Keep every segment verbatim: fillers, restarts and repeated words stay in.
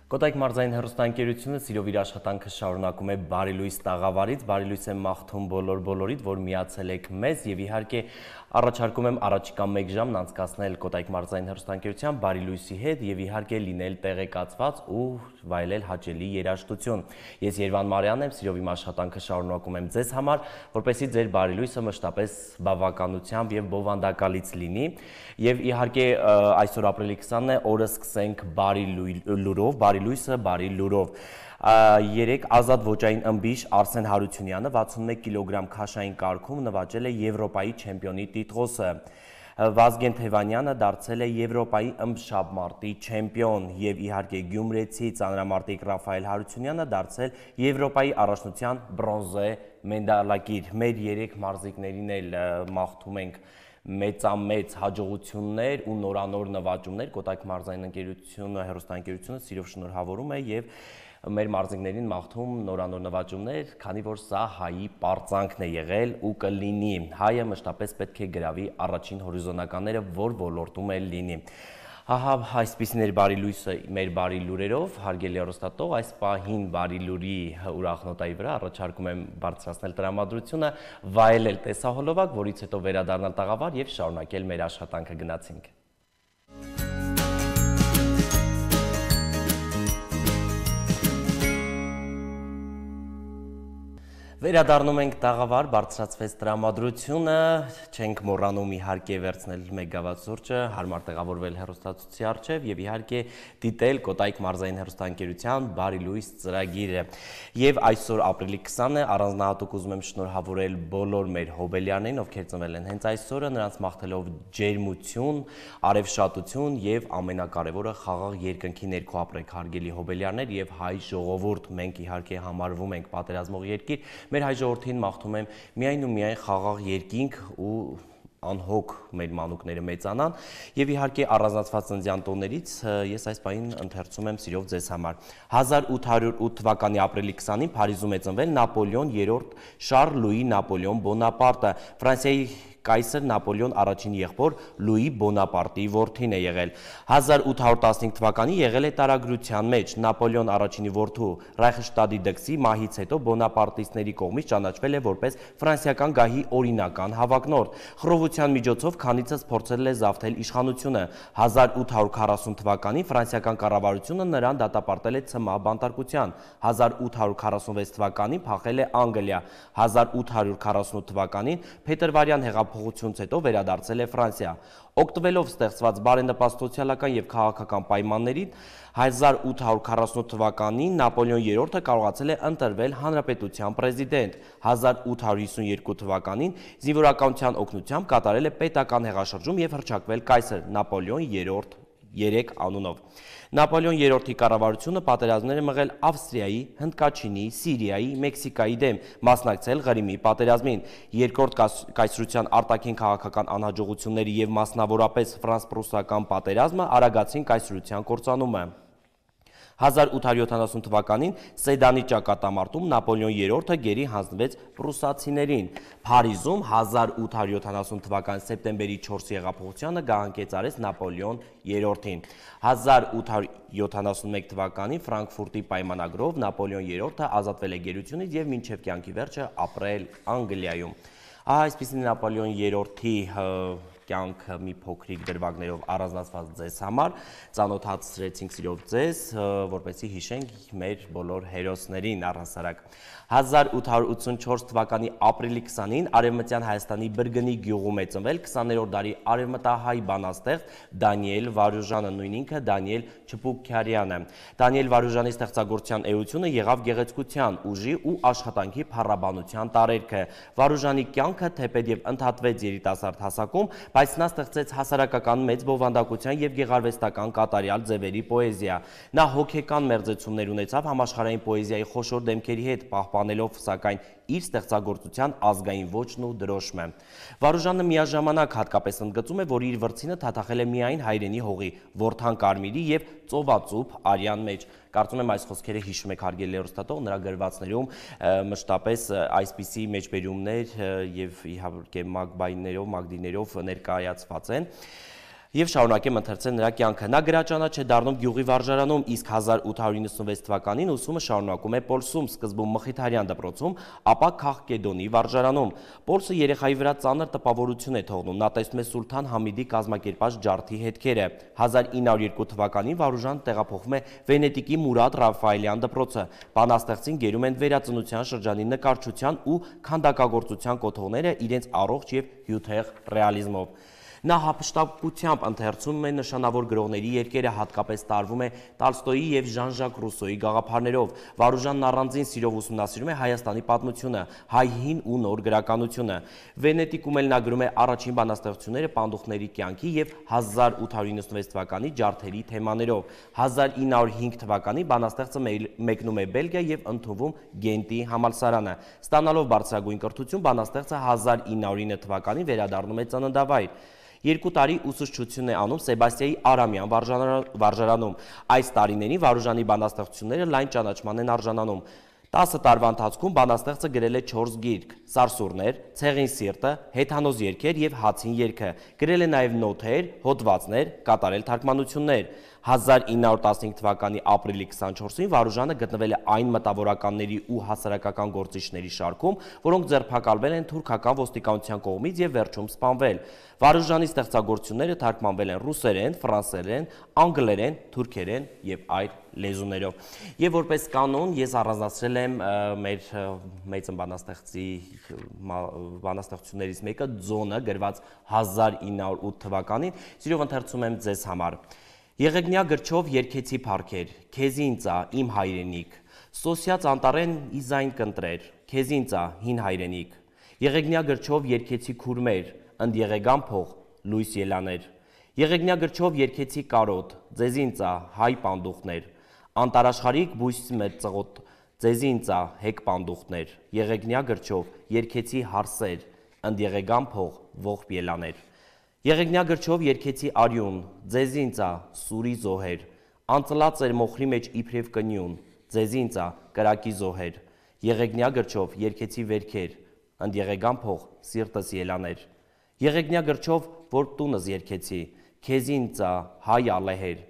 Կոտայք մարզային հեռուստաընկերությունը սիրով իր աշխատանքը շարունակում է Բարի լույս տաղավարից, Բարի լույս եմ մաղթում բոլոր բոլորիդ, որ միացել եք մեզ եւ իհարկե առաջարկում եմ առաջիկա մեկ ժամն անցկացնել Կոտայք մարզային հեռուստաընկերության Բարի լույսի հետ եւ իհարկե լինել տեղեկացված ու վայելել հաճելի երաժշտություն։ Ես Երվան Մարյանն եմ, սիրով իմ աշխատանքը շարունակում եմ ձեզ համար, որպեսզի ձեր Բարի լույսը մշտապես բավականությամբ եւ բովանդակալից լինի եւ իհարկե այսօր ապրիլի քսանն է, օրը սկսենք Բարի լուրով, Բարի լույսը, Բարի լուրով։ Երեք ազատ ոճային ըմբիշ Արսեն Հարությունյանը վաթսունմեկ կիլոգրամ քաշային կարգում նվաճել է Եվրոպայի չեմպիոնի տիտղոսը։ Վազգեն Թևանյանը դարձել է Եվրոպայի ըմբշաբմարտի չեմպիոն եւ իհարկե գյումրեցի ծանրամարտիկ Ռաֆայել Հարությունյանը դարձել Եվրոպայի առաջնության բրոնզե մեդալակիր։ Մեր երեք մարզիկներին էլ մաղթում ենք մեծամեծ հաջողություններ ու նորանոր նվաճումներ, Կոտայք մարզային ընկերությունը, հեռուստաընկերությունը սիրով շնորհավորում է եւ մեր մարզիկներին մաղթում նորանոր նվաճումներ, քանի որ սա հայի պարծանքն է եղել ու կլինի։ Հայը մշտապես պետք է գրավի առաջին հորիզոնականները, որ ոլորտում է լինի։ Ահա այսպիսին էր Բարի լույսը մեր բարի լուրերով, հարգելի հեռուստատող, այս պահին Բարի լուրի ուրախ նոտայի վրա առաջարկում եմ բարձրացնել տրամադրությունը, վայելել տեսահոլովակ, որից հետո վերադառնալ տաղավար եւ շարունակել մեր աշխատանքը։ Գնացինք։ Վերադառնում ենք տաղավար, բարձրացվեց տրամադրությունը, չենք մոռանում իհարկե վերցնել մեկ գավաթ սուրճը, հարմար տեղավորվել հեռուստացույցի առջև եւ իհարկե դիտել Կոտայք մարզային հեռուստաընկերության Բարի լույս ծրագիրը։ Եվ այսօր ապրիլի քսանն է, առանձնահատուկ ուզում եմ շնորհավորել բոլոր մեր հոբելյարներին, ովքեր ծնվել են հենց այսօրը, նրանց մաղթելով ջերմություն, արևշատություն եւ ամենակարևորը խաղաղ երկնքի ներքո ապրեք, հարգելի հոբելյարներ եւ հայ ժողովուրդ, մենք իհարկե համարվում ենք պատերազմող երկիր։ Մեր հայ ժողովրդին մաղթում եմ միայն ու միայն խաղաղ երկինք ու անհոգ մեր մանուկները մեծանան եւ իհարկե առանձնացված ծննդյան տոներից ես այս պահին ընթերցում եմ սիրով ձեզ համար։ հազար ութ հարյուր ութ թվականի ապրիլի քսանին Փարիզում է ծնվել Նապոլեոն երրորդ Շարլ Լուի Նապոլեոն Բոնապարտը, Ֆրանսիայի կայսր Նապոլեոն առաջին եղբոր Լուի Բոնապարտի որդին է եղել։ հազար ութ հարյուր տասնհինգ թվականին եղել է տարագրության մեջ, Նապոլեոն առաջինի որդու Ռայխշտադի դքսի մահից հետո բոնապարտիստների կողմից ճանաչվել է որպես ֆրանսիական գահի օրինական հավակնորդ։ Խռովության միջոցով քանիցս փորձել է զավթել իշխանությունը։ հազար ութ հարյուր քառասուն թվականին ֆրանսիական կառավարությունը նրան դատապարտել է ցմահ բանտարկության։ հազար ութ հարյուր քառասունվեց թվականին փախել է Անգլիա։ հազար ութ հարյուր քառասունութ թվականին փետրվարյան հեղափոխությունից հետո վերադարձել է Ֆրանսիա։ Օգտվելով ստեղծված բարենպաստ սոցիալական եւ քաղաքական պայմաններին, հազար ութ հարյուր քառասունութ թվականին Նապոլեոն երրորդը կարողացել է ընտրվել հանրապետության պրեզիդենտ։ հազար ութ հարյուր հիսունյոթ թվականին զինվորականության օգնությամբ կատարել է պետական հեղաշրջում եւ հռչակվել կայսր Նապոլեոն երրորդ երեք անունով։ Նապոլեոն երրորդի կառավարությունը պատերազմներ է մղել Ավստրիայի, Հնդկաչինի, Սիրիայի, Մեքսիկայի դեմ, մասնակցել Ղրիմի պատերազմին։ Երկրորդ կայսրության արտաքին քաղաքական անհաջողությունները եւ մասնավորապես ֆրանս-պրուսական պատերազմը արագացրին կայսրության կործանումը։ հազար ութ հարյուր յոթանասուն թվականին Սեդանի ճակատամարտում Նապոլեոն երրորդը գերի հանձնվեց պրուսացիներին։ Փարիզում հազար ութ հարյուր յոթանասուն թվականի սեպտեմբերի չորսի հեղափոխությանը գահանկեց արեց Նապոլեոն երրորդին։ հազար ութ հարյուր յոթանասունմեկ թվականին Ֆրանկֆուրտի պայմանագրով Նապոլեոն երրորդը ազատվել է գերությունից եւ մինչեւ կյանքի վերջը ապրել Անգլիայում։ Ահա այսպիսին Նապոլեոն երրորդի կյանքը մի փոքրիկ դրվագներով առանձնացված ձեզ համար ծանոթացրեցինք սիրով ձեզ, որպեսզի հիշենք մեր բոլոր հերոսներին առհասարակ։ հազար ութ հարյուր ութսունչորս թվականի ապրիլի քսանին Արևմտյան Հայաստանի Բրգնի գյուղում է ծնվել քսաներորդ դարի արևմտահայ բանաստեղծ Դանիել Վարուժանը, նույն ինքը Դանիել Չպուկքյարյանը։ Դանիել Վարուժանի ստեղծագործության էությունը եղավ գեղեցկության, ուժի ու աշխատանքի փառաբանության տարերքը։ Վարուժանի կյանքը թեպետ եւ ընդհատվեց երիտասարդ հասակում, բայց նա ստեղծեց հասարակական մեծ բովանդակության եւ գեղարվեստական կատարյալ ձևերի պոեզիա։ Նա հոգեկան մերձեցումներ ունեցավ համաշխարհային պոեզիայի խոշոր դեմքերի հետ, պահպանելով սակայն իր ստեղծագործության ազգային ոճն ու դրոշմը։ Վարուժանը միաժամանակ հատկապես ընդգծում է, որ իր վրձինը թաթախել է միայն հայրենի հողի, Որդան Կարմիրի եւ ծովածուփ արյան մեջ։ Կարծում եմ այս խոսքերը հիշում եք հարգելի հեռուստատող, նրա գրվածներում մշտապես այսպիսի մեջբերումներ եւ իհարկե մագբայներով, մագդիներով ներկայացված են։ Եվ շարունակեմ ընթերցել նրա կյանքը։ Նա գրաճանաչ է դառնում գյուղի վարժարանում, իսկ հազար ութ հարյուր իննսունվեց թվականին ուսումը շարունակում է Պոլսում, սկզբում Մխիթարյան դպրոցում, ապա Քաղկեդոնի վարժարանում։ Պոլսը երեխայի վրա ծանր տպավորություն է թողնում։ Նա տեսնում է Սուլթան Համիդի կազմակերպած ջարդի հետքերը։ հազար ինը հարյուր երկու թվականին Վարուժան տեղափոխվում է Վենետիկի Մուրադ Ռաֆայելյան դպրոցը։ Բանաստեղծին գերում են վերածնության շրջանի նկարչության ու քանդակագործության կոթողները իրենց առողջ և հյութեղ ռեալիզմով։ Նա հափշտակությամբ ընթերցում է նշանավոր գրողների երկերը, հատկապես տարվում է Տոլստոյի և Ժան-Ժակ Ռուսոյի գաղափարներով։ Վարուժանն առանձին սիրով ուսումնասիրում է Հայաստանի պատմությունը, հայ հին ու նոր գրականությունը։ Վենետիկում էլ նա գրում է առաջին բանաստեղծությունները պանդուխտների կյանքի և հազար ութ հարյուր իննսունվեց թվականի ջարդերի թեմաներով։ հազար ինը հարյուր հինգ թվականին բանաստեղծը մեկնում է Բելգիա և ընդունվում Գենտի համալսարանը։ Ստանալով բարձրագույն կրթություն, բանաստեղծը հազար ինը հարյուր ինը թվականին վերադառնում է ծննդավայր։ Երկու տարի ուսուցչություն է անում Սեբաստիայի Արամյան վարժարանում։ Այս տարիներին Վարուժանի բանաստեղծությունները լայն ճանաչման են արժանանում։ տասը տարվա ընթացքում բանաստեղծը գրել է չորս գիրք՝ Սարսուռներ, Ցեղին սիրտը, Հեթանոս երգեր և Հացին երգը։ Գրել է նաև նոթեր, հոդվածներ, կատարել թարգմանություններ։ հազար ինը հարյուր տասնհինգ թվականի ապրիլի քսանչորսին Վարուժանը գտնվել է այն մտավորականների ու հասարակական գործիչների շարքում, որոնք ձերբակալվել են թուրքական ոստիկանության կողմից և վերջում սպանվել։ Վարուժանի ստեղծագործությունները թարգմանվել են ռուսերեն, ֆրանսերեն, անգլերեն, թուրքերեն և այլ լեզուներով։ Եվ որպես կանոն ես առանձնացրել եմ մեր մեծ բանաստեղծի բանաստեղծություններից մեկը Ձոնը, գրված հազար ինը հարյուր ութ թվականին։ Սիրով ընթերցում եմ ձեզ համար։ Եղեգնյա գրչով երգեցի փառքեր, քեզինցա իմ հայրենիք, սոսյաց անտառեն իզայն կընտրեր, քեզինցա հին հայրենիք, եղեգնյա գրչով երգեցի քուրմեր, ընդ եղեգան փող լույս ելաներ, եղեգնյա գրչով երգեցի կարոտ, ձեզինցա հայ պանդուխտներ, անտարաշխարիկ բույս մեր ծղոտ, ձեզինցա հեկ պանդուխտներ, եղեգնյա գրչով երգեցի հարսեր, ընդ եղեգան փող ողբ ելաներ, եղեգնյա գրչով երգեցի արյուն, ձեզինցա սուրի զոհեր, անծլած էր մոխրի մեջ իբրև կնյուն, ձեզինցա կրակի զոհեր, եղեգնյա գրչով երգեցի վերքեր, ընդ եղեգան փող սիրտս ելաներ, եղեգնյա գրչով որ տունս երգեցի, քեզինցա հայ ալեհեր,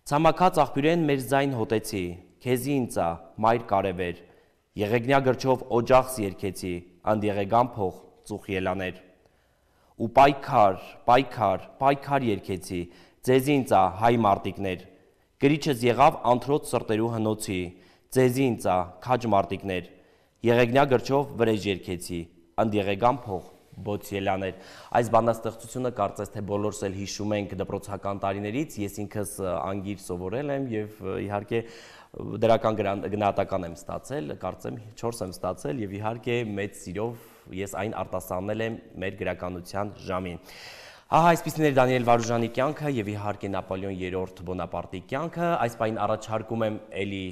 ցամաքած աղբյուրեն մեր զայն հոտեցի, քեզինցա մայր կարևեր, եղեգնյա գրչով օջախս երգեցի, ընդ եղեգան փող ծուխ ելաներ, ու պայքար, պայքար, պայքար երգեցի, ձեզինցա հայ մարտիկներ, գրիչս եղավ անթրոց սրտերու հնոցի, ձեզինցա քաջ մարտիկներ, եղեգնյա գրչով վրեժ երգեցի, ընդ եղեգան փող բոց ելաներ։ Այս բանաստեղծությունը կարծես թե բոլորս էլ հիշում ենք դպրոցական տարիներից, ես ինքս անգիր սովորել եմ և իհարկե դրական գնահատական եմ ստացել, կարծեմ չորս եմ ստացել և իհարկե մեծ սիրով ես այն արտասանել եմ մեր գրականության ժամին։ Ահա այսպիսին էր Դանիել Վարուժանի կյանքը և իհարկե Նապոլեոն երրորդ Բոնապարտի կյանքը։ Այս պահին առաջարկում եմ էլի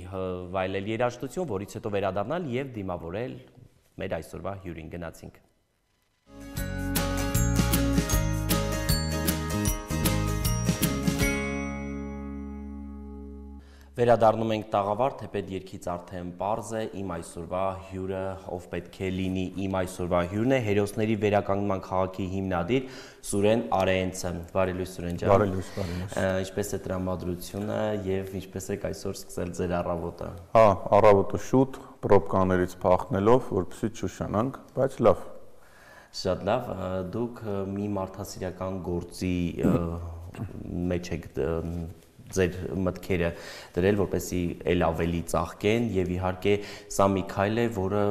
վայելել երաժշտություն, որից հետո վերադառնալ և դիմավորել մեր այսօրվա հյուրին։ Գնացինք։ Վերադառնում ենք տաղավար, թեպետ երգից արդեն պարզ է, իմ այսօրվա հյուրը, ով պետք է լինի իմ այսօրվա հյուրն է, Հերոսների վերականգնման քաղաքի հիմնադիր Սուրեն Արեենցը։ Բարի լույս Սուրեն ջան։ Բարի լույս, բարի լույս։ Ինչպես է տրամադրությունը և ինչպես եք այսօր սկսել ձեր առավոտը։ Հա, առավոտը շուտ, պրոբկաներից փախնելով, որպեսզի չուշանանք, բայց լավ։ Շատ լավ, դուք մի մարդասիրական գործի մեջ եք ձեր մտքերը դրել, որպեսզի էլ ավելի ծաղկեն և իհարկե սա մի քայլ է, որը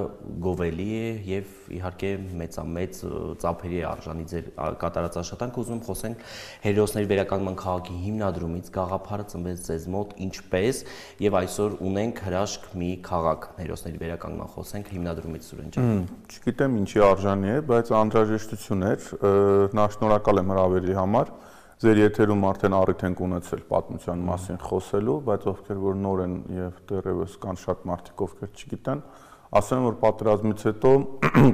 գովելի է և իհարկե մեծամեծ ծափերի է արժանի ձեր կատարած աշխատանքը։ Ուզում եմ խոսենք Հերոսների վերականգնման քաղաքի հիմնադրումից, գաղափարը ծնվեց ձեզ մոտ ինչպես և այսօր ունենք հրաշք մի քաղաք Հերոսների վերականգնման, խոսենք հիմնադրումից Սուրեն ջան։ Չգիտեմ ինչի արժանի է, բայց անհրաժեշտություն էր, նա շնորհակալ եմ հրավերի համար։ Ձեր եթերում արդեն առիթ ենք ունեցել պատմության մասին խոսելու, բայց ովքեր որ նոր են եւ դեռևս կան շատ մարդիկ, ովքեր չգիտեն, ասեմ որ պատերազմից հետո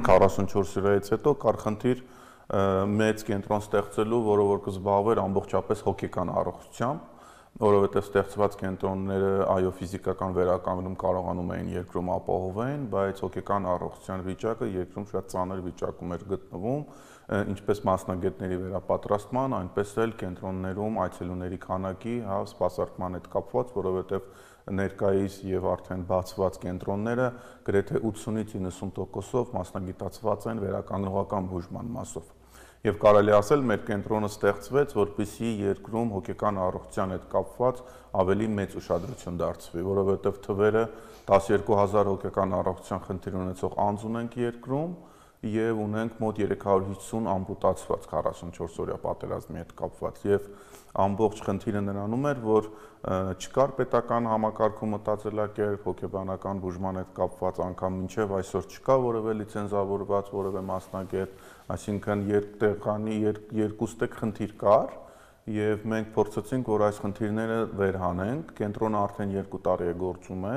քառասունչորս սիրայից հետո կար խնդիր մեծ կենտրոն ստեղծելու, որը որ կզբաղվեր ամբողջապես հոգեկան առողջությամբ, որովհետև ստեղծված կենտրոնները այո ֆիզիկական վերականգնում կարողանում էին երկրում ապահովել, բայց հոգեկան առողջության վիճակը երկրում շատ ծանր վիճակում էր գտնվում։ ինչպես մասնագետների վերապատրաստման, այնպես էլ կենտրոններում այցելուների քանակի, հա, սպասարկման հետ կապված, որովհետև ներկայիս եւ արդեն բացված կենտրոնները գրեթե ութսունից իննսուն տոկոսով մասնագիտացված են վերականգնողական բուժման մասով։ Եվ կարելի ասել, մեր կենտրոնը ստեղծվեց, որպեսզի երկրում հոգեկան առողջության հետ կապված ավելի մեծ ուշադրություն դարձվի, որովհետև թվերը տասներկու հազար հոգեկան առողջության խնդիր ունեցող անձ ունենք երկրում եւ ունենք մոտ երեք հարյուր հիսուն ամպուտացված քառասունչորս օրյա պատերազմի հետ կապված եւ ամբողջ խնդիրը նրանում էր, որ չկար պետական համակարգում մտածելակերպ, հոգեբանական բուժման հետ կապված անգամ մինչև այսօր չկա որևէ լիցենզավորված որևէ մասնագետ, այսինքն երկտեղանի երկուստեք խնդիր կար եւ մենք փորձեցինք, որ այս խնդիրները վերհանենք, կենտրոնը արդեն երկու տարի է գործում է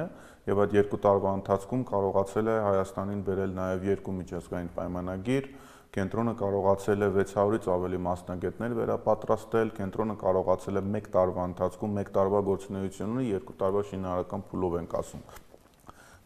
եւ այդ երկու տարվա ընթացքում կարողացել է Հայաստանին բերել նաեւ երկու միջազգային պայմանագիր, կենտրոնը կարողացել է վեց հարյուրից ավելի մասնագետներ վերապատրաստել, կենտրոնը կարողացել է մեկ տարվա ընթացքում մեկ տարվա գործունեությունը երկու տարվա շինարարական փուլով ենք ասում։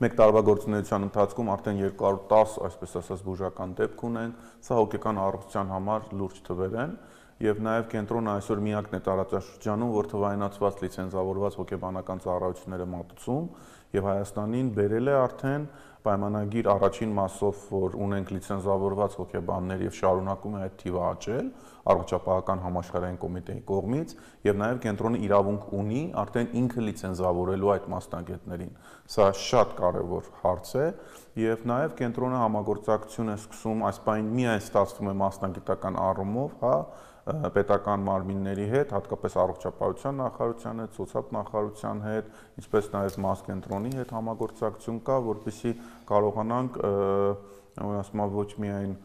Մեկ տարվա գործունեության ընթացքում արդեն երկու հարյուր տասը, այսպես ասած, բուժական դեպք ունենք, սա հոգեկան առողջության համար լուրջ թվեր են, եւ նաեւ կենտրոնը այսօր միակն է տարածաշրջանում, որ թվայնացված լիցենզավորված հոգեբանական ծառայությունները մատուցում եւ Հայաստանին բերել է արդեն պայմանագիր առաջին մասով, որ ունենք լիցենզավորված հոգեբաններ եւ շարունակում է այդ թիվը աճել առողջապահական համաշխարհային կոմիտեի կողմից եւ նաեւ կենտրոնը իրավունք ունի արդեն ինքը լիցենզավորելու այդ մասնագետներին։ Սա շատ կարեւոր հարց է եւ նաեւ կենտրոնը համագործակցություն է սկսում, այս պայն միայն ստացվում է մասնագիտական առումով, հա, պետական մարմինների հետ, հատկապես առողջապահության նախարարության հետ, սոցիալ նախարարության հետ, ինչպես նաև մասկենտրոնի հետ համագործակցություն կա, որպեսզի կարողանանք, ասում եմ, ոչ միայն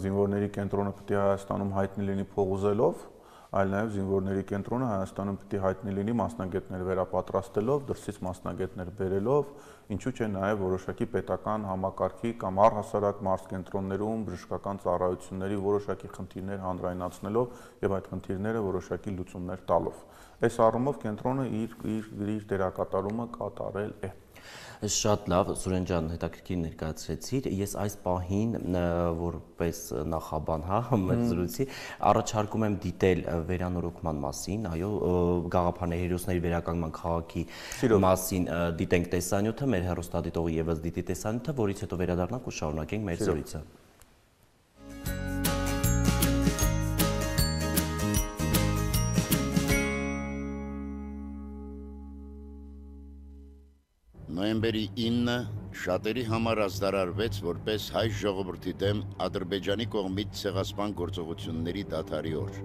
զինվորների կենտրոնը պետք է Հայաստանում հայտնի լինի փողոզելով, այլ նաև զինվորների կենտրոնը Հայաստանում պետք է հայտնի լինի մասնագետներ վերապատրաստելով, դրսից մասնագետներ բերելով, ինչու՞ չէ նաև որոշակի պետական համակարգի կամ առհասարակ մարզկենտրոններում բժշկական ծառայությունների որոշակի խնդիրներ հանրայնացնելով եւ այդ խնդիրները որոշակի լուծումներ տալով։ Այս առումով կենտրոնը իր իր իր դերակատարումը կատարել է։ Շատ լավ, Սուրեն ջան, հետաքրքիր ներկայացրեցիր։ Ես այս պահին որպես նախաբան, հա, մեր զրույցի, առաջարկում եմ դիտել վերանորոգման մասին, այո, գաղափարների հերոսների վերականգնման քաղաքի մասին դիտենք տեսանյութը, մեր հեռուստադիտողը եւս դիտի տեսանյութը, որից հետո վերադառնանք ու շարունակենք մեր զրույցը։ Նոյեմբերի ինը շատերի համար ազդարարվեց որպես հայ ժողովրդի դեմ Ադրբեջանի կողմից ցեղասպան գործողությունների դադարի օր,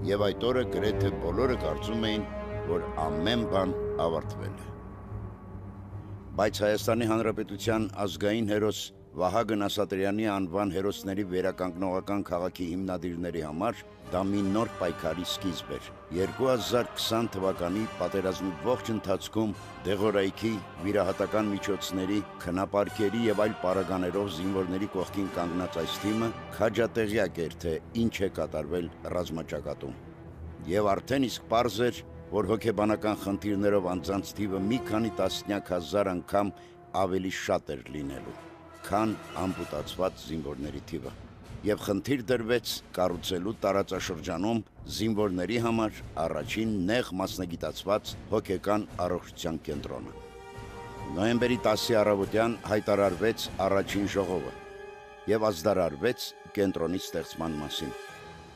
եւ այդ օրը գրեթե բոլորը կարծում էին, որ ամեն բան ավարտվել է։ Բայց Հայաստանի Հանրապետության ազգային հերոս Վահագն Ասատրյանի անվան հերոսների վերականգնողական քաղաքի հիմնադիրների համար դա մի նոր պայքարի սկիզբ էր։ երկու հազար քսան թվականի պատերազմի ողջ ընթացքում դեղորայքի, վիրահատական միջոցների, քնապարկերի եւ այլ պարագաներով զինվորների կողքին կանգնած այս թիմը քաջատեղյակ էր, թե ինչ է կատարվել ռազմաճակատում։ Եվ արդեն իսկ պարզ էր, որ հոգեբանական խնդիրներով անձանց թիվը մի քանի տասնյակ հազար անգամ ավելի շատ էր լինելու, քան ամպուտացված զինվորների թիվը, եւ խնդիր դրվեց կառուցելու տարածաշրջանում զինվորների համար առաջին նեղ մասնագիտացված հոգեկան առողջության կենտրոնը։ Նոյեմբերի տասի առավոտյան հայտարարվեց առաջին ժողովը եւ ազդարարվեց կենտրոնի ստեղծման մասին։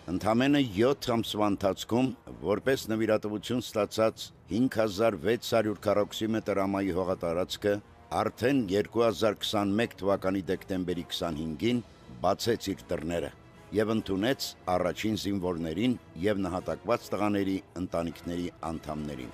Ընդամենը յոթ ամսվա ընթացքում, որպես նվիրատվություն ստացած հինգ հազար վեց հարյուր քառակուսի ամայի հողատարածքը արդեն երկու հազար քսանմեկ թվականի դեկտեմբերի քսանհինգին բացեց իր դռները եւ ընդունեց առաջին զինվորներին եւ նահատակված տղաների ընտանիքների անդամներին։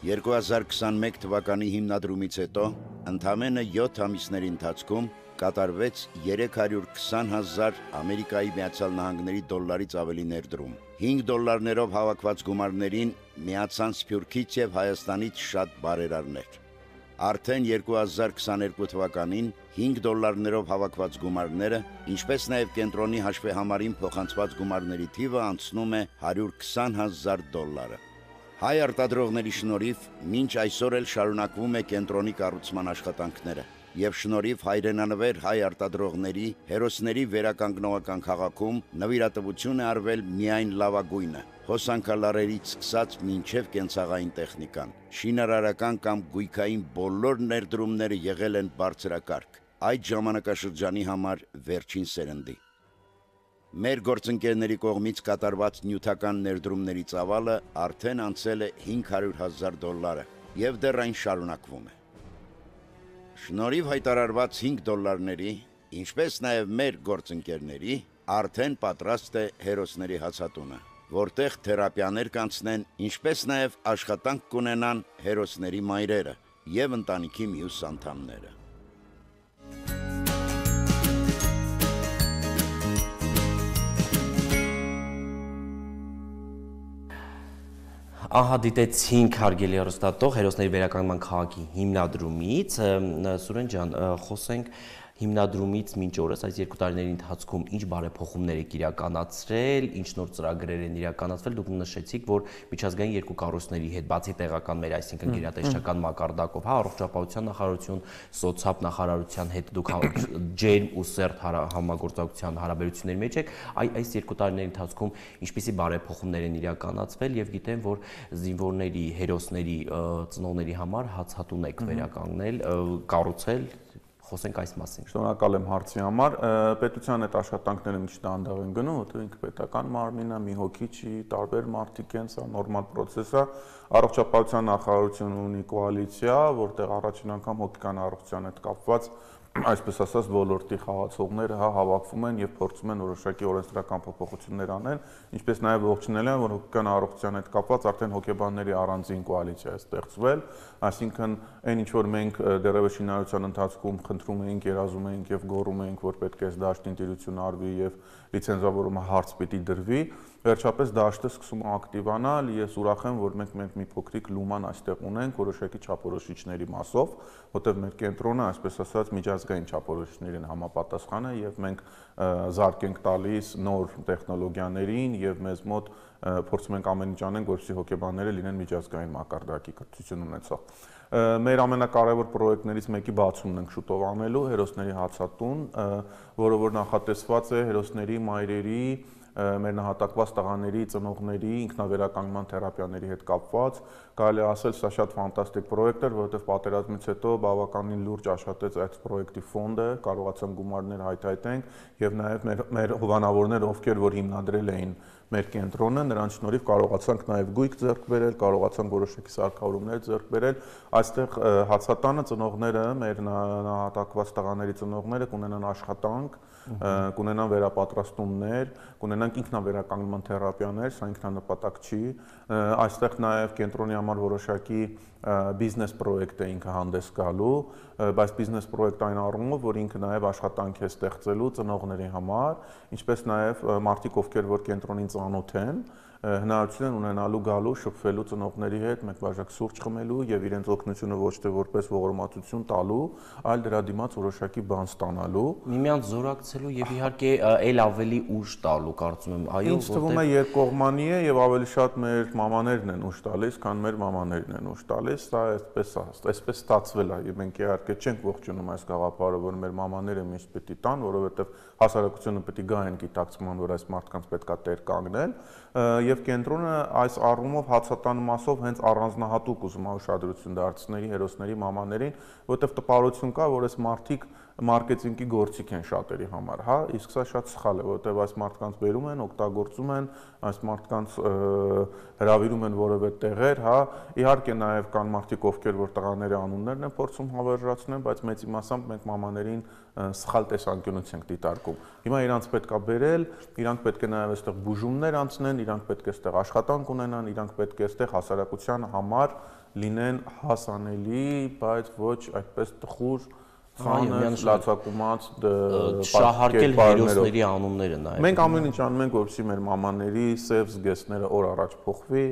երկու հազար քսանմեկ թվականի հիմնադրումից հետո ընդամենը յոթ ամիսների ընթացքում կատարվեց երեք հարյուր քսան հազար Ամերիկայի Միացյալ Նահանգների դոլարից ավելի ներդրում։ հինգ դոլարներով հավաքված գումարներին միացան Սփյուռքից եւ Հայաստանից շատ բարերարներ։ Արդեն երկու հազար քսաներկու թվականին հինգ դոլարներով հավաքված գումարները, ինչպես նաև կենտրոնի հաշվեհամարին փոխանցված գումարների թիվը անցնում է հարյուր քսան հազար դոլարը։ Հայ արտադրողների շնորհիվ մինչ այսօր էլ շարունակվում է կենտրոնի կառուցման աշխատանքները, եւ շնորհիվ հայրենանվեր հայ արտադրողների հերոսների վերականգնողական քաղաքում նվիրատվություն է արվել միայն լավագույնը, հոսանքալարերից սկսած մինչև կենցաղային տեխնիկան։ Շինարարական կամ գույքային բոլոր ներդրումները եղել են բարձրակարգ, այդ ժամանակաշրջանի համար վերջին սերնդի։ Մեր գործընկերների կողմից կատարված նյութական ներդրումների ծավալը արդեն անցել է հինգ հարյուր հազար դոլարը եւ դեռ այն շարունակվում է։ Շնորհիվ հայտարարված հինգ դոլարների, ինչպես նաեւ մեր գործընկերների, արդեն պատրաստ է հերոսների հացատունը, որտեղ թերապիաներ կանցնեն, ինչպես նաեւ աշխատանք կունենան հերոսների մայրերը եւ ընտանիքի մյուս անդամները։ Ահա դիտեցինք հարգելի հեռուստատող հերոսների վերականգնման քաղաքի հիմնադրումից, Սուրեն ջան, խոսենք հիմնադրումից մինչ օրս այս երկու տարիների ընթացքում ինչ բարեփոխումներ եք իրականացրել, ինչ նոր ծրագրեր են իրականացվել, դուք նշեցիք, որ միջազգային երկու կառույցների հետ բացի տեղական մեր, այսինքն գերատեսչական մակարդակով, հա, առողջապահության նախարարություն, սոցիալ նախարարության հետ դուք ջերմ ու սերտ համագործակցության հարաբերությունների մեջ եք, այս երկու տարիների ընթացքում ինչպիսի բարեփոխումներ են իրականացվել եւ գիտեմ, որ զինվորների, հերոսների ծնողների համար հացատուն եք վերականգնել, կառուցել, խոսենք այս մասին։ Շնորհակալ եմ հարցի համար։ Պետության այդ աշխատանքները միշտ դանդաղ են գնում, որտեղ ինքը պետական մարմին է, մի հոգի չի, տարբեր մարդիկ են, սա նորմալ process է։ Առողջապահության նախարարությունը ունի կոալիցիա, որտեղ առաջին անգամ հոգեկան առողջության հետ կապված այսպես ասած ոլորտի խաղացողները հա հավաքվում են եւ փորձում են որոշակի օրենսդրական փոփոխություններ անել, ինչպես նաեւ ողջունել են, որ հոգեկան առողջության հետ կապված արդեն հոգեբանների առանձին կոալիցիա է ստեղծվել, այսինքն այն ինչ որ մենք դեռևս շինարարության ընթացքում խնդրում էինք, երազում էինք եւ գոռում էինք, որ պետք է դաշտին տիրություն արվի եւ լիցենզավորումը հարց պիտի դրվի, վերջապես դաշտը սկսում է ակտիվանալ, ես ուրախ եմ, որ մենք մենք մի փոքրիկ լուման այստեղ ունենք որոշակի չափորոշիչների մասով, որտեղ մեր կենտրոնը, այսպես ասած, միջազգային չափորոշիչներին համապատասխան է եւ մենք զարկ ենք տալիս նոր տեխնոլոգիաներին եւ մեզ մոտ փորձում ենք ամեն ինչ անենք, որպեսզի հոգեբանները լինեն միջազգային մակարդակի կրթություն ունեցող։ Մեր ամենակարևոր պրոյեկտներից մեկի բացումն ենք շուտով անելու, հերոսների հացատուն, որը որ նախատեսված է հերոսների մայրերի մեր նահատակված տղաների, ծնողների, ինքնավերականգնման թերապիաների հետ կապված, կարելի է ասել, սա շատ ֆանտաստիկ պրոյեկտ էր, որովհետև պատերազմից հետո բավականին լուրջ աշխատեց այդ պրոյեկտի ֆոնդը, կարողացան գումարներ հայթայթենք եւ նաեւ մեր, մեր հովանավորները, ովքեր որ հիմնադրել էին մեր կենտրոնը, նրանց շնորհիվ կարողացանք նաեւ գույք ձեռք բերել, կարողացանք որոշակի սարքավորումներ ձեռք բերել, այստեղ հացատանը ծնողները, մեր նահատակված տղաների ծնողները կունենան աշխատանք, կունենան վերապատրաստումներ, կունենանք ինքնավերականգնման թերապիաներ, սա ինքնանպատակ չի, այստեղ նաեւ կենտրոնի համար որոշակի բիզնես պրոյեկտ է ինքը հանդես գալու, բայց բիզնես պրոյեկտ այն առումով, որ ինքը նաև աշխատանք է ստեղծելու ծնողների համար, ինչպես նաև մարդիկ, ովքեր որ կենտրոնին ծանոթ են, հնարավորություն են ունենալու գալու, շփվելու ծնողների հետ, մեկ բաժակ սուրճ խմելու եւ իրենց օգնությունը ոչ թե որպես ողորմածություն տալու, այլ դրա դիմաց որոշակի բան ստանալու, միմյանց զորակցելու եւ իհարկե այլ ավելի ուժ տալու, կարծում եմ, այո, ինձ թվում է երկկողմանի է եւ ավելի շատ մեր մամաներն են ուժ տալիս, քան մեր մամաներն են ուժ տալիս, սա այսպես է, այսպես ստացվել է եւ մենք իհարկե չենք ողջունում այս գաղափարը, որ մեր մամաները միշտ պիտի տան, որովհետեւ հասարակությունը պիտի գա այն գիտակցման, որ այս մարդկանց պետքա տեր կանգնել, եւ կենտրոնը այս առումով հացատանմասով հենց առանձնահատուկ ուզում է ուշադրություն դարձնել հերոսների մամաներին, որովհետեւ տպարություն կա, որ այս մարդիկ մարքեթինգի գործիք են շատերի համար, հա, իսկ սա շատ սխալ է, որովհետև այս մարդկանց բերում են, օգտագործում են, այս մարդկանց հրավիրում են որևէ տեղեր, հա, իհարկե նաև կան մարդիկ, ովքեր որ տղաների անուններն են փորձում հավերժացնել, բայց մեծի մասամբ մենք մամաներին սխալ տեսանկյունից ենք դիտարկում։ Հիմա իրանց պետք է բերել, իրանք պետք է նաև այստեղ բուժումներ անցնեն, իրանք պետք է այստեղ աշխատանք ունենան, իրանք պետք է այստեղ հասարակության համար լինեն հասանելի, բայց ոչ այդպես տխուր Խանես, լացակումած շահարկել հերոսների անունները նաև։ Մենք ամեն ինչ անում ենք, որպեսզի մեր մամաների սև զգեստները օր առաջ փոխվի,